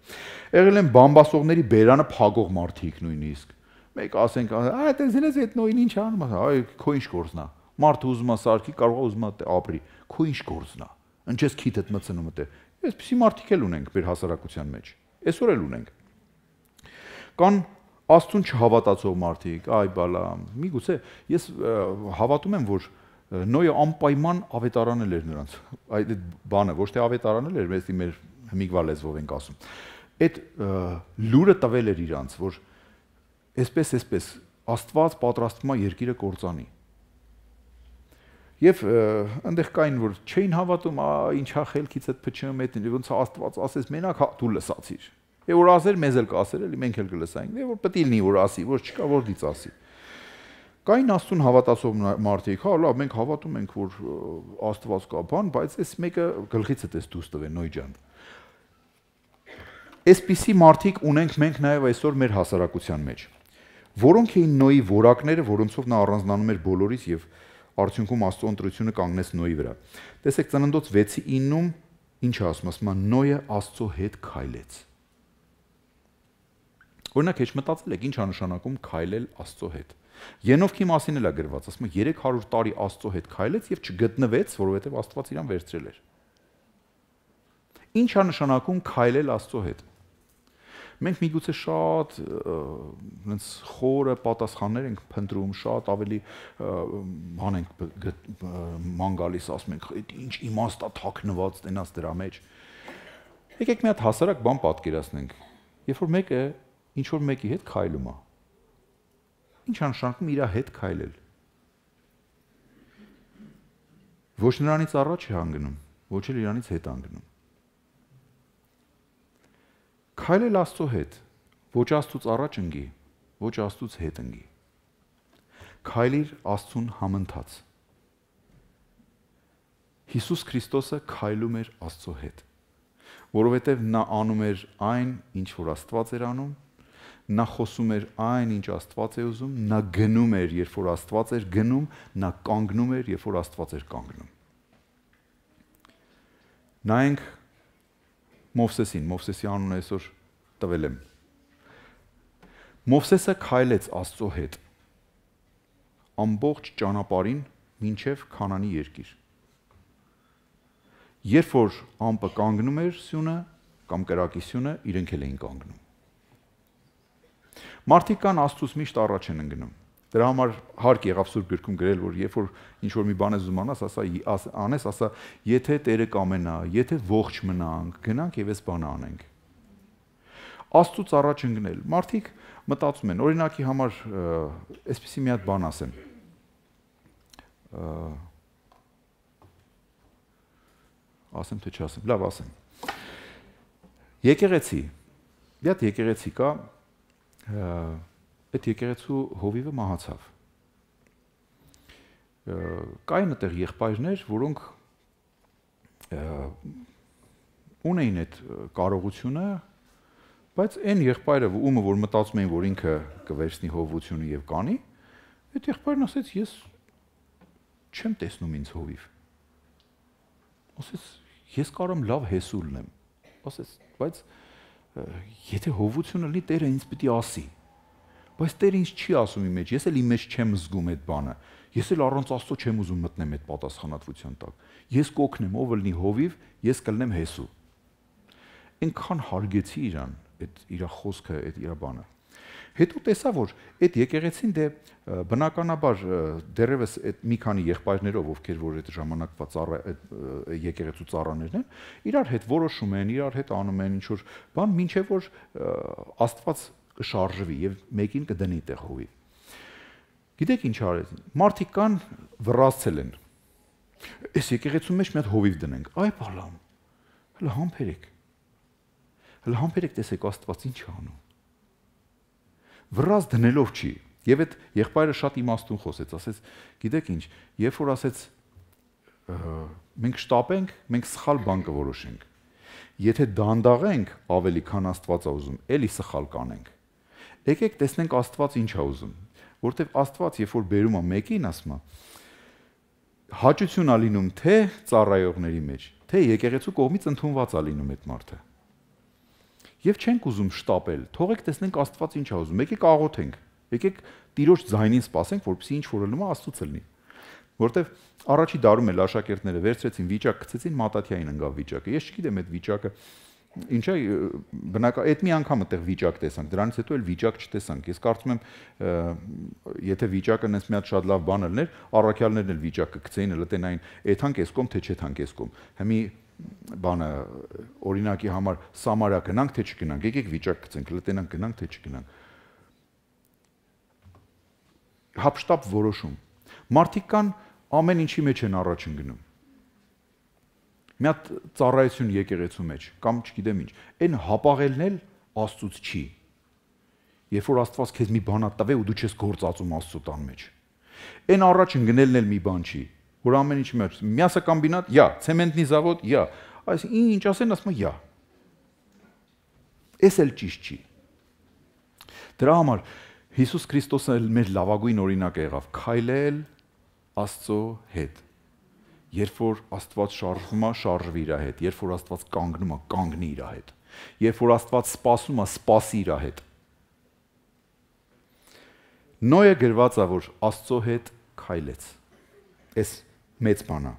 S1: Եղել են բամբասողների բերանը փագող մարդիկ նույնիսկ։ Մեկ ասենք, այ տեսնես այդ նոյին ինչ անում է, այ քո ինչ գործն է։ Մարդը ուզում է սարքի, կարող է ուզում է ապրի, քո ինչ գործն է։ Ինչես քիթդ մցնում է։ Այսպիսի մարդիկ էլ ունենք մեր հասարակության մեջ։ Այսօր էլ ունենք։ Կան Աստծուն չհավատացող մարդիկ, այ բալա, միգուցե ես հավատում եմ, որ Նոյը անպայման ավետարանել էր նրանց։ Այդ բանը ոչ թե ավետարանել էր, մեզ մեր հմիգվա լեզվով ենք ասում։ Այդ լուրը տվել էր իրանց, որ այսպես այսպես Աստված պատրաստվում է երկիրը կործանի։ Եվ այնտեղ կային, որ չէին հավատում, ինչա խելքից այդ փչում է, ոնց Աստված ասես մենակ դու լսացիր։ Եվ որ ասեր, մեզ էլ կասեր, էլի մենք էլ կլսենք, եւ որ պետք է լինի, որ ասի, որ չկա որ դից ասի։ Կային Աստծուն հավատացող մարդիկ, հա, լավ, մենք հավատում ենք, որ Աստված կա բան, բայց այս մեկը գլխիցդ էս դուրս տվեն, Նոյ ջան։ Այսպիսի մարդիկ ունենք մենք նաեւ այսօր մեր հասարակության մեջ, որոնք էին Նոյի որակները, որոնցով նա առանձնանում էր բոլորից եւ արդյունքում Աստծո ընտրությունը կանգնեց Նոյի վրա։ Տեսեք Ծննդոց վեցի իննում ինչ ասում, ասում է Նոյը Աստծո հետ քայլեց։ Օրինակ հեչ մտածել եք ինչ է նշանակում քայլել Աստծո հետ։ Ենովքի մասին էլ է գրված, ասում է երեք հարյուր տարի Աստծո հետ քայլեց եւ չգտնվեց, որովհետեւ Աստված իրան վերցրել էր։ Ինչ է նշանակում քայլել Աստծո հետ։ Մենք միգուցե շատ այնց խորը պատասխաններ ենք փնտրում, շատ ավելի բան ենք ման գալիս, ասում ենք, ինչ իմաստ է թաքնված տենաս դրա մեջ։ Եկեք մի հատ հասարակ բան պատկերացնենք։ Երբ որ մեկը ինչ որ մեկի հետ քայլում է։ Ինչ է նշանակում իր հետ քայլել։ Ոչ նրանից առաջ է հանգնում, ոչ էլ իրանից հետ հանգնում։ Քայլել Աստծո հետ, ոչ Աստծուց առաջ ընկի, ոչ Աստծուց հետ ընկի։ Քայլիր Աստծուն համընթաց։ Հիսուս Քրիստոսը քայլում էր Աստծո հետ, որովհետև նա անում էր այն, ինչ որ Աստված էր անում, նա խոսում էր այն, ինչ Աստված է ուզում, նա գնում էր, երբ որ Աստված էր գնում, նա կանգնում էր, երբ որ Աստված էր կանգնում։ Նայենք Մովսեսին, Մովսեսի անունը այսօր տվել եմ։ Մովսեսը քայլեց Աստծո հետ ամբողջ ճանապարհին մինչև Քանանի երկիր։ Երբ որ ամպը կանգնում էր սյունը կամ կրակի սյունը, իրենք էլ էին կանգնում։ Մարդիկ կան Աստծուց միշտ առաջ են ընկնում։ Դրա համար հարկ եղավ Սուրբ Գրքում գրել, որ երբ որ ինչ որ մի բան ես ուզում անես, ասա անես, ասա, եթե Տերը կամենա, եթե ողջ մնանք, գնանք եւ այս բանը անենք։ Աստծուց առաջ ընկնել։ Մարդիկ մտածում են, օրինակի համար այսպեսի մի հատ բան ասեմ։ Ասեմ թե չասեմ, լավ ասեմ։ Եկեղեցի, մի հատ եկեղեցի կա, այդ եկեղեցու հովիվը մահացավ։ Կային այդտեղ եղբայրներ, որոնք ունեին այդ կարողությունը Բայց այն եղբայրը, ումը որ մտածում էին, որ ինքը կվերցնի հովությունը եւ կանի, այդ եղբայրն ասեց, ես չեմ տեսնում ինձ հովիվ։ Ասեց, ես կարամ լավ հեսու լինեմ։ Ասեց, բայց եթե հովությունը լինի, Տերը ինձ պիտի ասի։ Բայց Տերը ինձ չի ասում իմ մեջ, ես էլ իմ մեջ չեմ զգում այդ բանը։ Ես էլ առանց Աստծո չեմ ուզում մտնեմ այդ պատասխանատվության տակ։ Ես կօգնեմ, ով լինի հովիվ, ես կլինեմ հեսու։ Այնքան հարգեցի իրան, այդ իր խոսքը, այդ իր բանը։ Հետո տեսա, որ այդ եկեղեցին դե բնականաբար դեռևս այդ մի քանի եղբայրներով, ովքեր որ այդ ժամանակվա ծառա եկեղեցու ծառաներն են, իրար հետ որոշում են, իրար հետ անում են ինչ որ բան, մինչև որ Աստված կշարժվի եւ մեկին կդնի տեղ հովի։ Գիտեք ինչ արեցին։ Մարդիկ կան վռազցել են։ Այս եկեղեցու մեջ մի հատ հովիվ դնենք։ Այ բալամ։ Հələ համբերեք։ Հələ համբերեք տեսեք Աստված ինչ է անում։ Վռազ դնելով չի։ Եվ այդ եղբայրը շատ իմաստուն խոսեց, ասեց, գիտեք ինչ, երբ որ ասեց մենք շտապենք, մենք սխալ բան կորոշենք։ Եթե դանդաղենք, ավելի քան Աստված է ուզում, էլի սխալ կանենք։ Եկեք տեսնենք Աստված ինչ է ուզում, որտեվ Աստված երբ որ բերում է մեկին, ասում է, հաճություն է լինում թե ծառայողների մեջ, թե եկեղեցու կողմից ընդունված է լինում այդ մարդը։ Եվ չենք ուզում շտապել, թողեք տեսնենք Աստված ինչ է ուզում, եկեք աղոթենք, եկեք Տիրոջ ձայնին սպասենք, որպեսզի ինչ որ լինի Աստծուց լինի։ Որտեվ առաջի դարում էլ աշակերտները վերցրեցին վիճակ, գցեցին Մատաթիային ընկավ վիճակը։ Ես չգիտեմ այդ վիճակը ինչ է, բնական այդ մի անգամ այդտեղ վիճակ տեսանք, դրանից հետո էլ վիճակ չտեսանք։ Ես կարծում եմ, եթե վիճակը նես մի հատ շատ լավ բան լիներ, առաքյալներն էլ վիճակը գցեին, հələ տենային, էթանք էսկոմ թե չեթանք էսկոմ։ Հիմի բանը օրինակի համար Սամարա գնանք թե չգնանք, եկեք վիճակ գցենք, լտենանք գնանք թե չգնանք։ Հապշտապ որոշում։ Մարդիկ կան ամեն ինչի մեջ են առաջ ընկնում։ Մի հատ ծառայություն եկեղեցու մեջ կամ չգիտեմ ինչ, այն հապաղելն էլ Աստծուց չի։ Երբ որ Աստված քեզ մի բան տվե ու դու չես գործածում Աստծո տան մեջ։ Այն առաջ ընկնելն էլ մի բան չի, որ ամեն ինչի մեջ мясокомбинат, я, ցեմենտնի завод, я, այս ինչ ասեն, ասում եմ, я։ Էս էլ ճիշտ չի։ Դրա համար Հիսուս Քրիստոսը մեր լավագույն օրինակը եղավ, քայլել Աստծո հետ։ Երբ որ Աստված շարժվում է, շարժվի իր հետ, երբ որ Աստված կանգնում է, կանգնի իր հետ, երբ որ Աստված սպասում է, սպասի իր հետ։ Նոյը գրված է, որ Աստծո հետ քայլեց։ Էս մեծ բան է։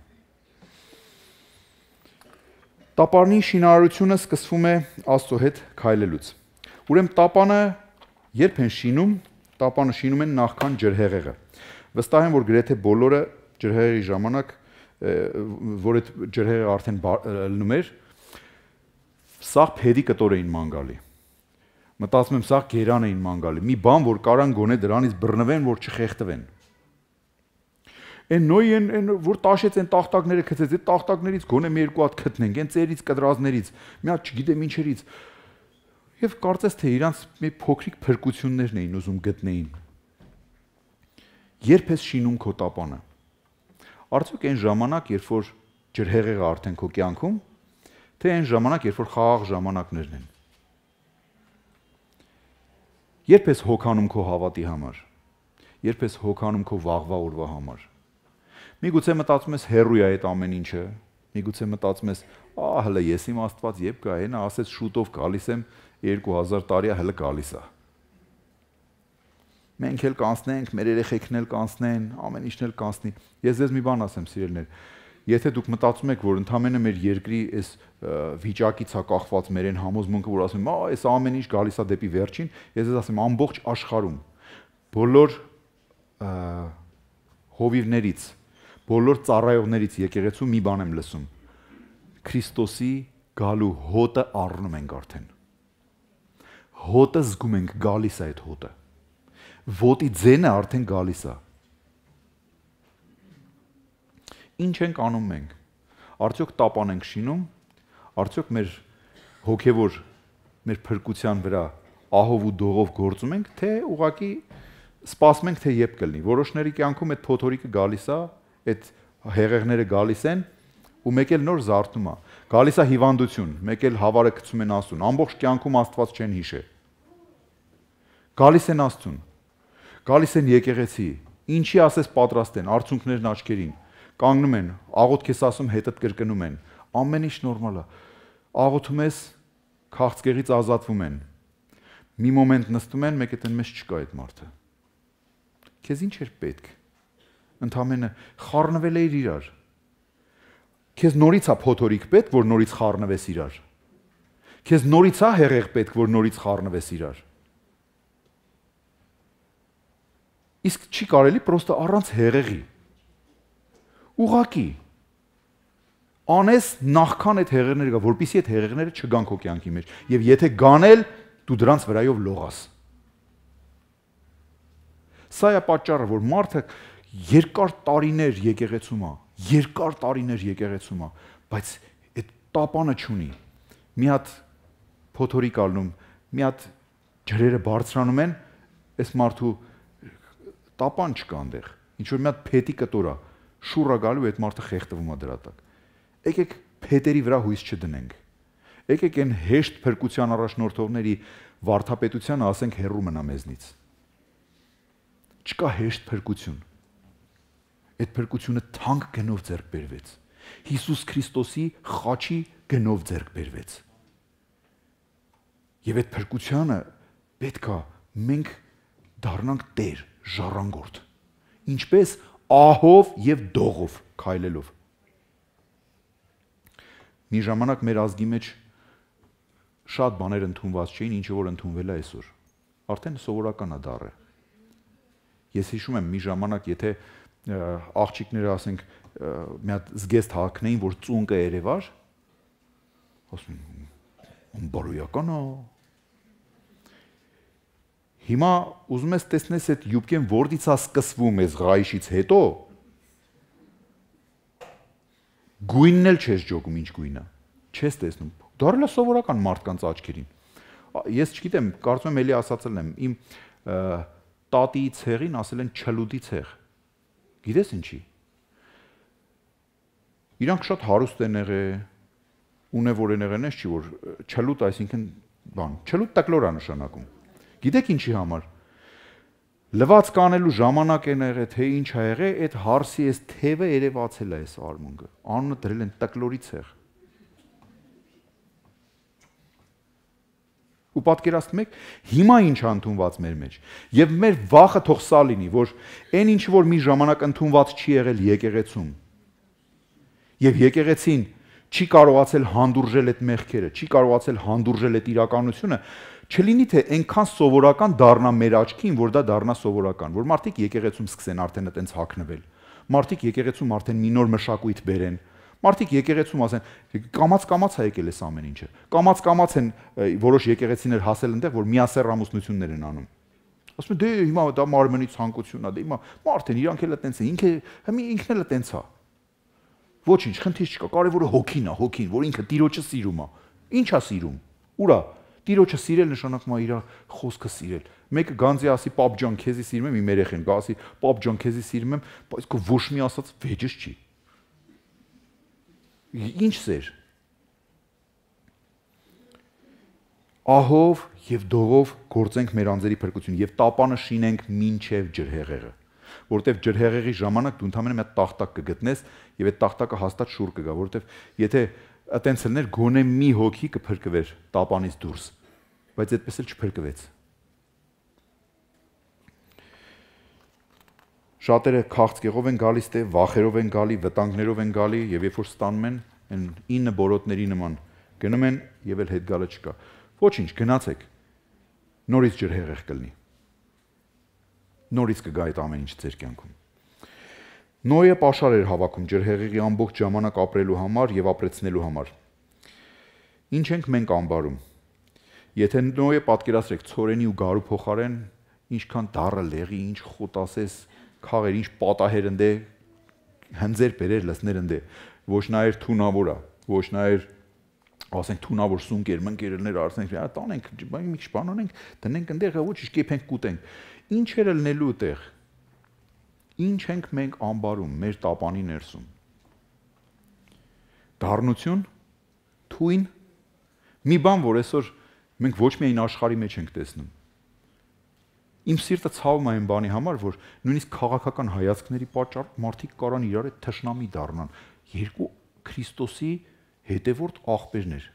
S1: Տապանի շինարարությունը սկսվում է Աստծո հետ քայլելուց։ Ուրեմն տապանը երբ են շինում, տապանը շինում են նախքան ջրհեղեղը։ Վստահ եմ, որ գրեթե բոլորը ջրհեղեղի ժամանակ, որ այդ ջրհեղեղը արդեն լնում էր, սաղ փեդի կտոր էին ման գալի։ Մտածում եմ, սաղ գերան էին ման գալի։ Մի բան, որ կարան գոնե դրանից բռնվեն, որ չխեղդվեն։ Այն նոյն, այն որ տաշեց այն տախտակները գցեց, այդ տախտակներից գոնե մի երկու հատ գտնենք, այն ծերից, կդրազներից, մի հատ չգիտեմ ինչերից։ Եվ կարծես թե իրանց մի փոքրիկ փրկություններն էին ուզում գտնեին։ Երբ ես շինում քո տապանը։ Արդյոք այն ժամանակ, երբ որ ջրհեղեղը արդեն քո կյանքում, թե այն ժամանակ, երբ որ խաղաղ ժամանակներն են։ Երբ ես հոգանում քո հավատի համար, երբ ես հոգանում քո վաղվա օրվա համար։ Միգուցե մտածում ես հերույ է այդ ամեն ինչը, միգուցե մտածում ես, ահա հələ ես իմ Աստված երբ գա, այնա ասեց շուտով գալիս եմ երկու հազար տարի է հələ գալիս է։ Մենք էլ կանցնենք, մեր երեխեքն էլ կանցնեն, ամեն ինչն էլ կանցնի։ Ես ձեզ մի բան ասեմ, սիրելիներ, եթե դուք մտածում եք, որ ընդամենը մեր երկրի այս վիճակից է կախված մեր այն համոզմունքը, որ ասում եմ, «Ա, այս ամեն ինչ գալիս է դեպի վերջին», ես ձեզ ասեմ, ամբողջ աշխարհում բոլոր հովիվներից, բոլոր ծառայողներից եկեղեցու մի բան եմ լսում։ Քրիստոսի գալու հոտը առնում ենք արդեն։ Հոտը զգում ենք, գալիս է այդ հոտը։ Ոտի ձենը արդեն գալիս է։ Ինչ ենք անում մենք։ Արդյոք տապան ենք շինում, արդյոք մեր հոգևոր, մեր փրկության վրա ահով ու դողով գործում ենք, թե ուղղակի սպասում ենք, թե երբ կլինի։ Որոշների կյանքում այդ փոթորիկը գալիս է, այդ հեղեղները գալիս են, ու մեկ էլ նոր զարթնում է։ Գալիս է հիվանդություն, մեկ էլ հավարը գցում են Աստծուն, ամբողջ կյանքում Աստված չեն հիշել։ Գալիս են Աստծուն, գալիս են եկեղեցի, ինչի ասես պատրաստ են, արցունքներն աչքերին, կանգնում են, աղոթք ես ասում, հետդ կրկնում են, ամեն ինչ նորմալ է։ Աղոթում ես, քաղցկեղից ազատվում են։ Մի մոմենտ նստում են, մեկ էլ մեզ չկա այդ մարդը։ Քեզ ինչ էր պետք։ Ընդամենը խառնվել էիր իրար։ Քեզ նորից է փոթորիկ պետք, որ նորից խառնվես իրար։ Քեզ նորից է հեղեղ պետք, որ նորից խառնվես իրար։ Իսկ չի կարելի պրոստը առանց հեղեղի։ Ուղակի անես նախքան այդ հեղեղները գա, որպեսզի այդ հեղեղները չգան քո կյանքի մեջ։ Եվ եթե գանել, դու դրանց վրայով լողաս։ Սա է պատճառը, որ մարդը երկար տարիներ եկեղեցում է, երկար տարիներ եկեղեցում է, բայց այդ տապանը չունի։ Մի հատ փոթորիկ ալնում, մի հատ ջրերը բարձրանում են, այս մարդու տապան չկա այնտեղ։ Ինչ որ մի հատ փետի կտոր է, շուռ է գալու, այդ մարդը խեղդվում է դրա տակ։ Եկեք փետերի վրա հույս չդնենք։ Եկեք այն հեշտ փրկության առաջնորդողների վարդապետությանը ասենք հեռու մնա մեզնից։ Չկա հեշտ փրկություն։ Այդ փրկությունը թանկ գնով ձեռք բերվեց։ Հիսուս Քրիստոսի խաչի գնով ձեռք բերվեց։ Եվ այդ փրկությանը պետք է մենք դառնանք Տեր, ժառանգորդ։ Ինչպես ահով եւ դողով քայլելով։ Մի ժամանակ մեր ազգի մեջ շատ բաներ ընդունված չէին, ինչը որ ընդունվել է այսօր։ Արդեն սովորական է դառը։ Ես հիշում եմ մի ժամանակ, եթե աղջիկները ասենք մի հատ զգեստ հագնեին, որ ծունկը երևար, ասում են բարոյական է։ Հիմա ուզում ես տեսնես այդ յուբկեն որտից է սկսվում այս ղայշից հետո, գույնն էլ չես ջոգում ինչ գույնը, չես տեսնում։ Դառել է սովորական մարդկանց աչքերին։ Ես չգիտեմ, կարծում եմ էլի ասացել եմ, իմ տատիի ցեղին ասել են չլուդի ցեղ։ Գիտես ինչի։ Իրանք շատ հարուստ են եղել, ունևոր են եղել, չի որ չլուտ, այսինքն բան, չլուտ տակլոր է նշանակում։ Գիտեք ինչի համար։ Լվացք կանելու ժամանակ են եղել, թե ինչ ա եղել, այդ հարսի այս թևը երևացել է այս արմունկը։ Անունը դրել են տակլորի ցեղ։ Ու պատկերացնում եք, հիմա ինչ է ընդունված մեր մեջ։ Եվ մեր վախը թող սա լինի, որ այն ինչ որ մի ժամանակ ընդունված չի եղել եկեղեցում։ Եվ եկեղեցին չի կարողացել հանդուրժել այդ մեղքերը, չի կարողացել հանդուրժել այդ իրականությունը, չլինի թե այնքան սովորական դառնա մեր աչքին, որ դա դառնա սովորական, որ մարդիկ եկեղեցում սկսեն արդեն այտենց հագնվել։ Մարդիկ եկեղեցում արդեն մի նոր մշակույթ բերեն։ Մարդիկ եկեղեցում ասեն, կամաց-կամաց է եկել այս ամեն ինչը։ Կամաց-կամաց են որոշ եկեղեցիներ հասել այնտեղ, որ միասեռ ամուսնություններ են անում։ Ասում են, դե հիմա դա մարմնի ցանկությունն է, դե հիմա մարդեն իրանք էլ այտենց է, ինքը հիմա ինքն էլ այտենց է։ Ոչինչ, խնդիր չկա, կարևորը հոգին է, հոգին, որ ինքը Տիրոջը սիրում է։ Ի՞նչ է սիրում։ Ուրա։ Տիրոջը սիրել նշանակում է իր խոսքը սիրել։ Մեկը գանձի ասի, պապ ջան, քեզի սիրում եմ, իմ երեխեն գա ասի, պապ ջան, քեզի սիրում եմ, բայց քո ոչ մի ասած վեճս չի։ Ինչ սեր։ Ահով եւ դողով գործենք մեր անձերի փրկություն եւ տապանը շինենք մինչեւ ջրհեղեղը, որովհետեւ ջրհեղեղի ժամանակ դու ընդամենը մի հատ տախտակ կգտնես եւ այդ տախտակը հաստատ շուռ կգա, որովհետեւ եթե այտենց լներ գոնե մի հոգի կփրկվեր տապանից դուրս, բայց այդպես էլ չփրկվեց։ Շատերը քաղցկեղով են գալիս, թե վախերով են գալի, վտանգներով են գալի եւ երբ որ ստանում են այն ինը բորոտների նման գնում են եւ էլ հետ գալը չկա։ Ոչինչ, գնացեք։ Նորից ջրհեղեղ կլինի։ Նորից կգա այդ ամեն ինչ ձեր կյանքում։ Նոյը պաշար էր հավաքում ջրհեղեղի ամբողջ ժամանակ ապրելու համար եւ ապրեցնելու համար։ Ինչ ենք մենք ամբարում։ Եթե Նոյը պատկերացրեք ցորենի ու գարու փոխարեն, ինչքան դառը լեղի, ինչ խոտ ասես, քաղեր, ինչ պատահեր ընդե, հնձեր բերեր լսներ ընդե, ոչ նայր թունավոր է, ոչ նայր ասենք թունավոր սունկեր, մնկերներ արսենք, տանենք, մի քիչ բան անենք, դնենք ընդեղ, ոչինչ կեփենք, կուտենք։ Ինչ էր լնելու տեղ։ Ինչ ենք մենք ամբարում մեր տապանի ներսում։ Դառնություն, թույն, մի բան, որ այսօր մենք ոչ միայն աշխարհի մեջ ենք տեսնում։ Իմ սիրտը ցավում է այն բանի համար, որ նույնիսկ քաղաքական հայացքների պատճառով մարդիկ կարան իրար հետ թշնամի դառնան, երկու Քրիստոսի հետևորդ աղբերներ։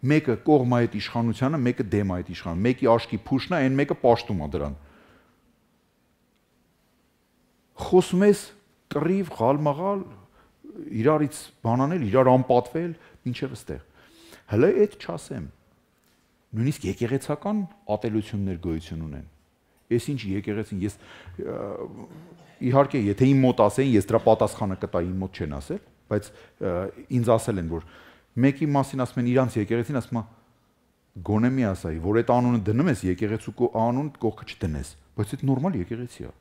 S1: Մեկը կողմ է այդ իշխանությանը, մեկը դեմ է այդ իշխանությանը, մեկի աշկի փուշն է, այն մեկը պաշտում է դրան։ Խոսում ես կռիվ, ղալմաղալ, իրարից բանանել, իրար անպատվել, մինչև այստեղ։ Հələ այդ չասեմ։ Նույնիսկ եկեղեցական ատելություններ գոյություն ունեն։ Ես ինչ եկեղեցին, ես իհարկե, եթե իմ մոտ ասեին, ես դրա պատասխանը կտայի, իմ մոտ չեն ասել, բայց ինձ ասել են, որ մեկի մասին ասում են իրանց եկեղեցին, ասում է գոնե մի ասայի, որ այդ անունը դնում ես եկեղեցու անուն կողքը չդնես, բայց այդ նորմալ եկեղեցի է։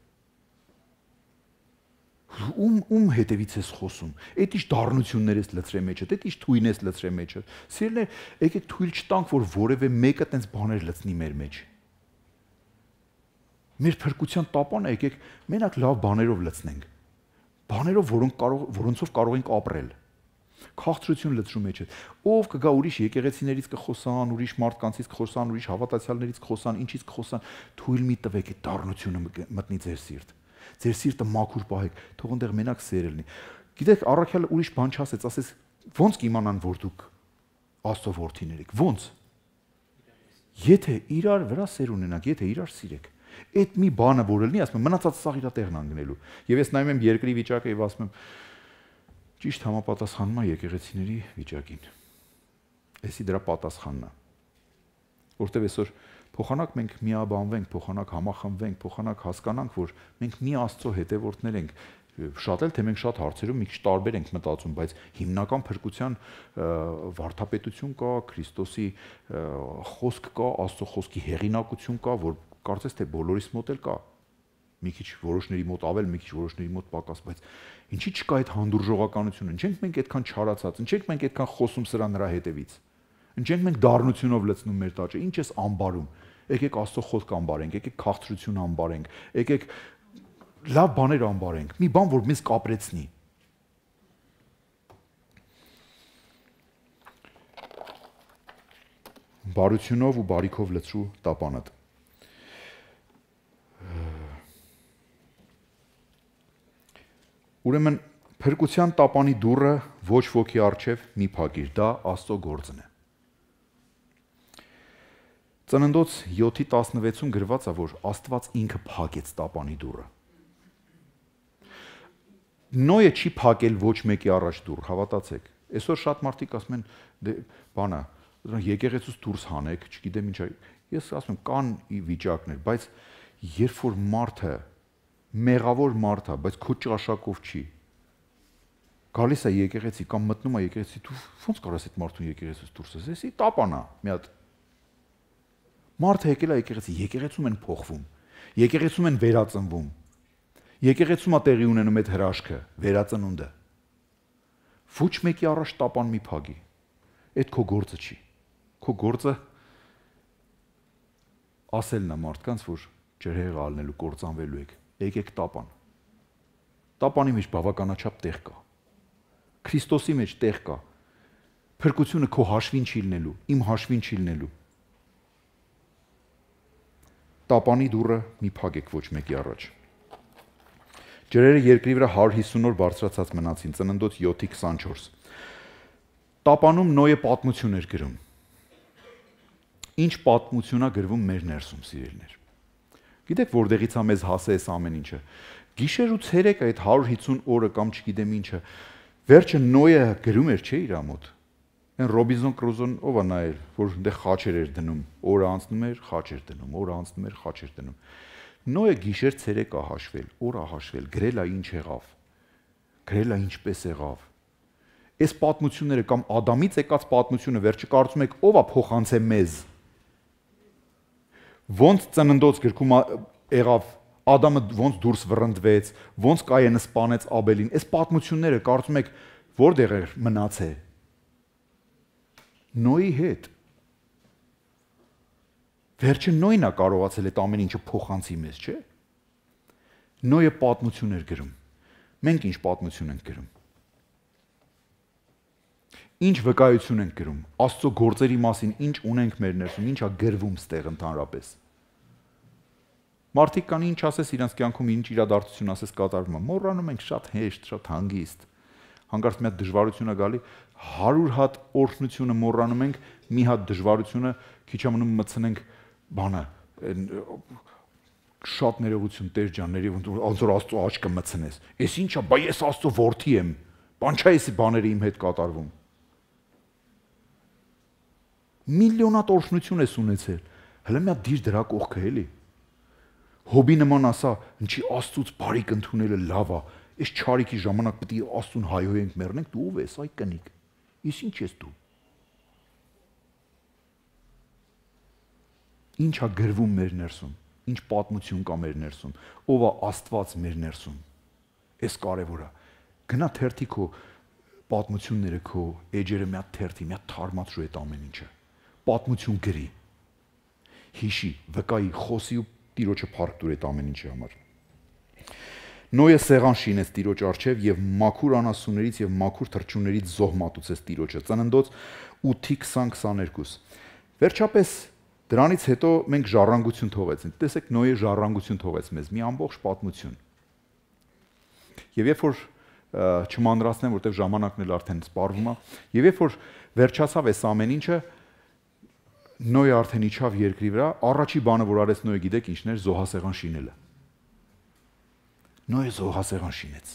S1: Ում ում հետևից ես խոսում։ Այդ ինչ դառնություններ ես լցրել մեջդ, այդ ինչ թույն ես լցրել մեջդ։ Սիրելիներ, եկեք թույլ չտանք, որ որևէ մեկը տենց բաներ լցնի մեր մեջ։ Մեր փրկության տապանը եկեք մենակ լավ բաներով լցնենք։ Բաներով, որոնք կարող որոնցով կարող ենք ապրել։ Քաղցրություն լցրու մեջդ։ Ով կգա ուրիշ եկեղեցիներից կխոսան, ուրիշ մարդկանցից կխոսան, ուրիշ հավատացյալներից կխոսան, ինչից կխոսան, թույլ մի տվեք այդ դառնությունը մտնի ձեր սիրտ։ Ձեր սիրտը մաքուր պահեք, թող այնտեղ մենակ սեր լինի։ Գիտեք, առաքյալը ուրիշ բան չասեց, ասեց, ո՞նց կիմանան, որ դուք Աստծո որդիներ եք։ Ո՞նց։ Եթե իրար վրա սեր ունենաք, եթե իրար սիրեք, այդ մի բանը որ լինի, ասում եմ, մնացած սաղ իր տեղն անգնելու։ Եվ ես նայում եմ երկրի վիճակը եւ ասում եմ, ճիշտ համապատասխանում է եկեղեցիների վիճակին։ Էսի դրա պատասխանն է։ Որտեւ այսօր փոխանակ մենք միաբանվենք, փոխանակ համախմբվենք, փոխանակ հասկանանք, որ մենք մի Աստծո հետևորդներ ենք, շատ էլ թե մենք շատ հարցերում մի քիչ տարբեր ենք մտածում, բայց հիմնական փրկության վարդապետություն կա, Քրիստոսի խոսք կա, Աստծո խոսքի հեղինակություն կա, որ կարծես թե բոլորիս մոտ էլ կա։ Մի քիչ որոշների մոտ ավել, մի քիչ որոշների մոտ պակաս, բայց ինչի՞ չկա այդ հանդուրժողականությունը, ինչենք մենք այդքան չարացած, ինչենք մենք այդքան խոսում սրա նրա հետևից։ Ինչենք մենք դառնությունով լցնում մեր տաճը, ինչ ես ամբարում։ Եկեք Աստծո խոսք ամբարենք, եկեք քաղցրություն ամբարենք, եկեք լավ բաներ ամբարենք, մի բան, որ մեզ կապրեցնի։ Բարությունով ու բարիքով լցրու տապանդ։ Ուրեմն փրկության տապանի դուռը ոչ ոքի առջև մի փակիր, դա Աստծո գործն է։ Ծննդոց յոթի տասնվեցում գրված է, որ Աստված ինքը փակեց տապանի դուռը։ Նոյը չի փակել ոչ մեկի առաջ դուռ, հավատացեք։ Այսօր շատ մարդիկ ասում են, դե բանա, եկեղեցուց դուրս հանեք, չգիտեմ ինչա։ Ես ասում եմ, կան վիճակներ, բայց երբ որ մարդը մեղավոր մարդ է, բայց քո ճաշակով չի։ Գալիս է եկեղեցի կամ մտնում է եկեղեցի, դու ո՞նց կարաս այդ մարդուն եկեղեցուց դուրս ես, էսի տապանա, մի հատ։ Մարդը եկել է եկեղեցի, եկեղեցում են փոխվում, եկեղեցում են վերածնվում, եկեղեցում է տեղի ունենում այդ հրաշքը, վերածնունդը։ Ոչ մեկի առաջ տապան մի փագի, այդ քո գործը չի, քո գործը ասելն է մարդկանց, որ ջրհեղեղ ալնելու կործանվելու եք, եկեք տապան։ Տապանի մեջ բավականաչափ տեղ կա, Քրիստոսի մեջ տեղ կա, փրկությունը քո հաշվին չի լինելու, իմ հաշվին չի լինելու։ Տապանի դուռը մի փակեք ոչ մեկի առաջ։ Ջրերը երկրի վրա հարյուր հիսուն օր բարձրացած մնացին, Ծննդոց յոթի քսանչորս։ Տապանում Նոյը պատմություն էր գրում։ Ինչ պատմություն է գրվում մեր ներսում, սիրելիներ։ Գիտեք որտեղից է մեզ հասե այս ամեն ինչը։ Գիշեր ու ցերեկ այդ հարյուր հիսուն օրը կամ չգիտեմ ինչը, վերջը Նոյը գրում էր, չէ՞ իր մոտ։ Այն Ռոբինզոն Կրուզոն ով է նայել, որ այնտեղ խաչեր էր դնում, օրը անցնում էր, խաչ էր դնում, օրը անցնում էր, խաչ էր դնում։ Նոյը գիշեր ցերեկ է հաշվել, օր է հաշվել, գրել է ինչ եղավ, գրել է ինչպես եղավ։ Այս պատմությունները կամ Ադամից եկած պատմությունը վերջը կարծում եք ով է փոխանցե մեզ։ Ոնց Ծննդոց գրքում եղավ, Ադամը ոնց դուրս վռնդվեց, ոնց Կայենը սպանեց Աբելին, այս պատմությունները կարծում եք որտեղ էր մնացել։ Նոյի հետ։ Վերջը Նոյն է կարողացել այդ ամեն ինչը փոխանցի մեզ, չէ՞։ Նոյը պատմություն էր գրում։ Մենք ինչ պատմություն ենք գրում։ Ինչ վկայություն ենք գրում, Աստծո գործերի մասին ինչ ունենք մեր ներսում, ինչա գրվում ստեղ ընդհանրապես։ Մարդիկ կան ինչ ասես իրենց կյանքում ինչ իրադարձություն ասես կատարվում է, մոռանում ենք շատ հեշտ, շատ հանգիստ։ Հանկարծ մի հատ դժվարություն է գալի, հարյուր հատ օրհնությունը մոռանում ենք, մի հատ դժվարությունը քիչ ամնում մտցնենք բանը, շատ ներողություն Տեր ջան, ոնց որ Աստծո աչքը մտցնես։ Էս ինչա, բա ես Աստծո որդի եմ։ Բան չէ էսի բաները իմ հետ կատարվում։ Միլիոնատ օրհնություն ես ունեցել։ Հələ մի հատ դիր դրա կողքը էլի։ Հոբի նման ասա, ինչի Աստծուց բարիք ընդունելը լավ է։ Այս չարիքի ժամանակ պետք է Աստծուն հայհոյենք մեռնենք, դու ով ես, այ կնիկ։ Ես ինչ ես դու։ Ինչա գրվում մեր ներսում, ինչ պատմություն կա մեր ներսում, ով է Աստված մեր ներսում։ Էս կարևոր է։ Գնա թերթի քո պատմությունները, քո էջերը մի հատ թերթի, մի հատ թարմացրու այդ ամեն ինչը։ Պատմություն գրի։ Հիշի, վկայի, խոսի ու Տիրոջը փառք տուր այդ ամեն ինչի համար։ Նոյը սեղան շինեց Տիրոջ առջև եւ մաքուր անասուններից եւ մաքուր թռչուններից զոհ մատուցեց Տիրոջը։ Ծննդոց ութի քսան քսաներկու։ Վերջապես դրանից հետո մենք ժառանգություն թողեցինք։ Տեսեք, Նոյը ժառանգություն թողեց մեզ, մի ամբողջ պատմություն։ Եվ երբ որ չմանրացնեմ, որտեղ ժամանակն էլ արդեն սպառվում է, եւ երբ որ վերջացավ այս ամեն ինչը, Նոյը արդեն իջավ երկրի վրա, առաջի բանը, որ արեց Նոյը, գիտեք ինչն էր, զոհասեղան շինելը։ Նոյը զոհասեղան շինեց։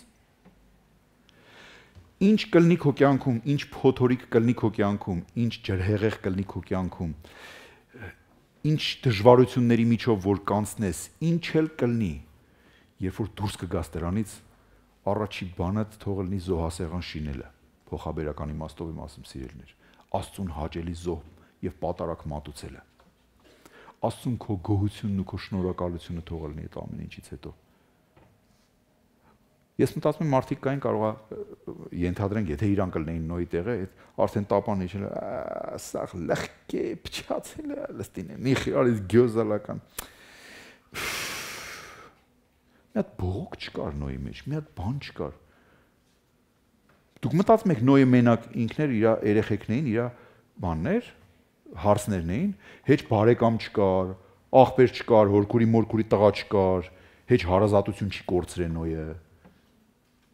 S1: Ինչ կլինի քո կյանքում, ինչ փոթորիկ կլինի քո կյանքում, ինչ ջրհեղեղ կլինի քո կյանքում, ինչ դժվարությունների միջով որ կանցնես, ինչ էլ կլինի, երբ որ դուրս կգաս դրանից, առաջի բանը թող լինի զոհասեղան շինելը, փոխաբերական իմաստով եմ ասում, սիրելիներ, Աստծուն հաճելի զոհ եւ պատարակ մատուցելը։ Աստծուն քո գոհությունն ու քո շնորհակալությունը թող լինի այդ ամեն ինչից հետո։ Ես մտածում եմ մարդիկ կային կարող է ենթադրենք, եթե իրան կլինեին Նոյի տեղը, այդ արդեն տապան իջել, սաղ լղկե փչացել է, լստին մի խիրալից գյոզալական։ Մի հատ բողոք չկար Նոյի մեջ, մի հատ բան չկար։ Դուք մտածում եք Նոյը մենակ ինքն էր, իր երեխեքն էին, իր բաններ, հարցներն էին, հեչ բարեկամ չկար, աղբեր չկար, հորքուրի մորքուրի տղա չկար, հեչ հարազատություն չի կորցրել Նոյը։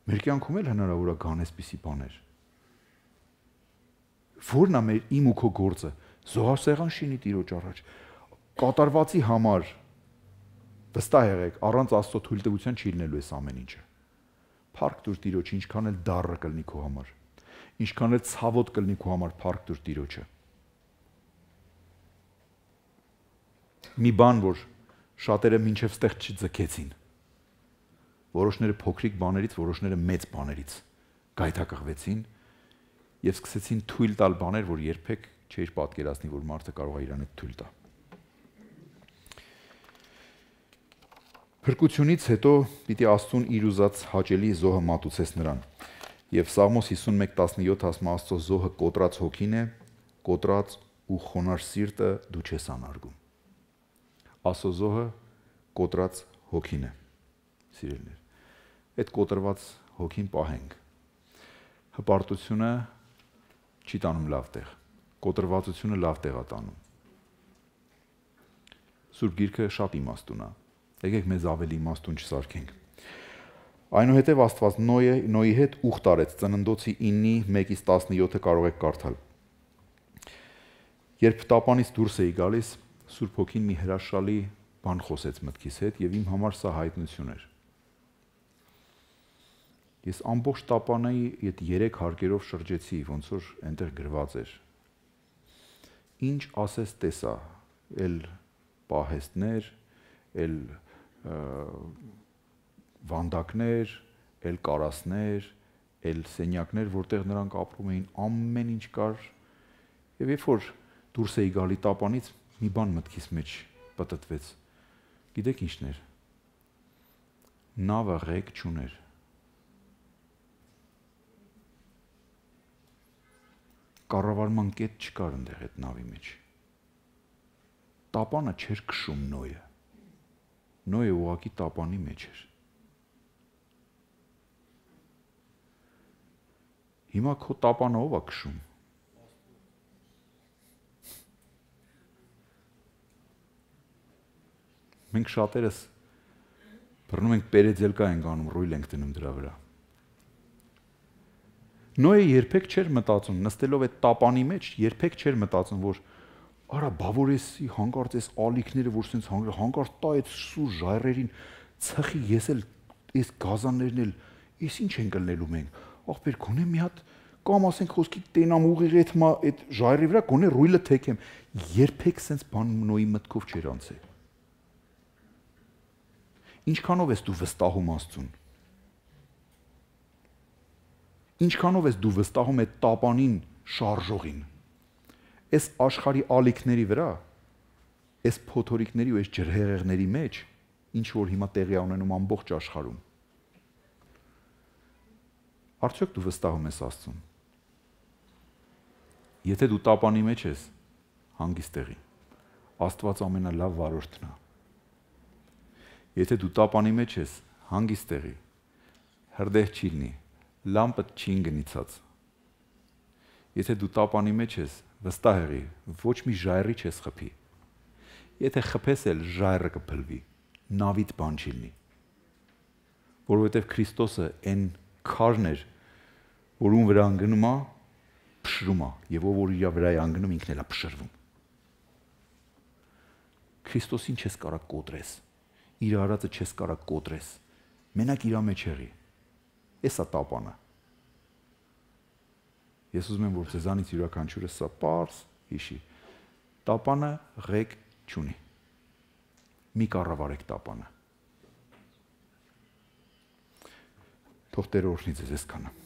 S1: Մեր կյանքում էլ հնարավոր է գան այսպիսի բաներ։ Որն է մեր իմ ու քո գործը։ Զոհասեղան շինի Տիրոջ առաջ։ Կատարվածի համար վստահ եղեք, առանց Աստծո թույլտվության չի լինելու այս ամեն ինչը։ Փառք տուր Տիրոջ, ինչքան էլ դառը կլինի քո համար, ինչքան էլ ցավոտ կլինի քո համար, փառք տուր Տիրոջը։ Մի բան, որ շատերը մինչև ստեղ չձգեցին։ Որոշները փոքրիկ բաներից, որոշները մեծ բաներից գայթակղվեցին եւ սկսեցին թույլ տալ բաներ, որ երբեք չէր պատկերացնի, որ մարդը կարող է իրան հետ թույլ տա։ Փրկությունից հետո պիտի Աստծուն իր ուզած հաճելի զոհը մատուցես նրան։ Եվ Սաղմոս հիսունմեկ տասնյոթ ասում Աստծո զոհը կոտրած հոգին է, կոտրած ու խոնարհ սիրտը դու չես անարգում։ Աստծո զոհը կոտրած հոգին է, սիրելիներ։ Այդ կոտրված հոգին պահենք։ Հպարտությունը չի տանում լավ տեղ, կոտրվածությունը լավ տեղ է տանում։ Սուրբ Գիրքը շատ իմաստուն է։ Եկեք մեզ ավելի իմաստուն չսարքենք։ Այնուհետև Աստված Նոյը Նոյի հետ ուխտ արեց, Ծննդոցի իննի մեկից տասնյոթը կարող եք կարդալ։ Երբ տապանից դուրս էի գալիս, Սուրբ Հոգին մի հրաշալի բան խոսեց մտքիս հետ եւ իմ համար սա հայտնություն էր։ Ես ամբողջ տապանայի այդ երեք հարկերով շրջեցի, ոնց որ այնտեղ գրված էր։ Ինչ ասես տեսա, էլ պահեստներ, էլ վանդակներ, էլ կարասներ, էլ սենյակներ, որտեղ նրանք ապրում էին, ամեն ինչ կար։ Եվ երբ որ դուրս էի գալի տապանից, մի բան մտքիս մեջ պտտվեց։ Գիտեք ինչն էր։ Նավը ղեկ չուներ։ Կառավարման կետ չկար այնտեղ այդ նավի մեջ։ Տապանը չէր քշում Նոյը։ Նոյը ուղղակի տապանի մեջ էր։ Հիմա քո տապանը ով է քշում։ Մենք շատերս բռնում ենք պերեձելկա ենք անում, ռույլ ենք դնում դրա վրա։ Նոյը երբեք չէր մտածում, նստելով այդ տապանի մեջ, երբեք չէր մտածում, որ արա բավորեսի հանկարծ այս ալիքները, որ sense հանկարծ տա այդ սուր ժայռերին ցխի, ես էլ այս գազաններն էլ, ես ինչ են կլնելու մենք։ Ախպեր, գոնե մի հատ կամ ասենք խոսքի տենամ ուղիղ այդ մա այդ ժայռի վրա գոնե ռույլը թեքեմ։ Երբեք sense բան նոյի մտքով չէր անցել։ Ինչքանով ես դու վստահում Աստծուն։ Ինչքանով ես դու վստահում այդ տապանին շարժողին։ Այս աշխարհի ալիքների վրա, այս փոթորիկների ու այս ջրհեղեղների մեջ, ինչ որ հիմա տեղի ունենում ամբողջ աշխարհում։ Արդյոք դու վստահում ես Աստծուն։ Եթե դու տապանի մեջ ես, հանգիստ եղի։ Աստված ամենալավ վարորդն է։ Եթե դու տապանի մեջ ես, հանգիստ եղի։ Հրդեհ չի լինի, լամպը չի գնիցած։ Եթե դու տապանի մեջ ես, վստահ եղի, ոչ մի ժայռի չես խփի։ Եթե խփես էլ ժայռը կփլվի, նավից բան չի լինի։ Որովհետև Քրիստոսը այն քարն էր, որում վրա անգնում է, փշրում է, եւ ով որ իր վրա է անգնում, ինքն էլ է փշրվում։ Քրիստոսին չես կարա կոտրես, իր արածը չես կարա կոտրես, մենակ իր մեջ եղի։ Էսա տապանը։ Ես ուզում եմ, որ ձեզանից յուրաքանչյուրը սա պարզ հիշի։ Տապանը ղեկ չունի։ Մի կառավարեք տապանը։ Թող Տերը օրհնի ձեզ այսքանը։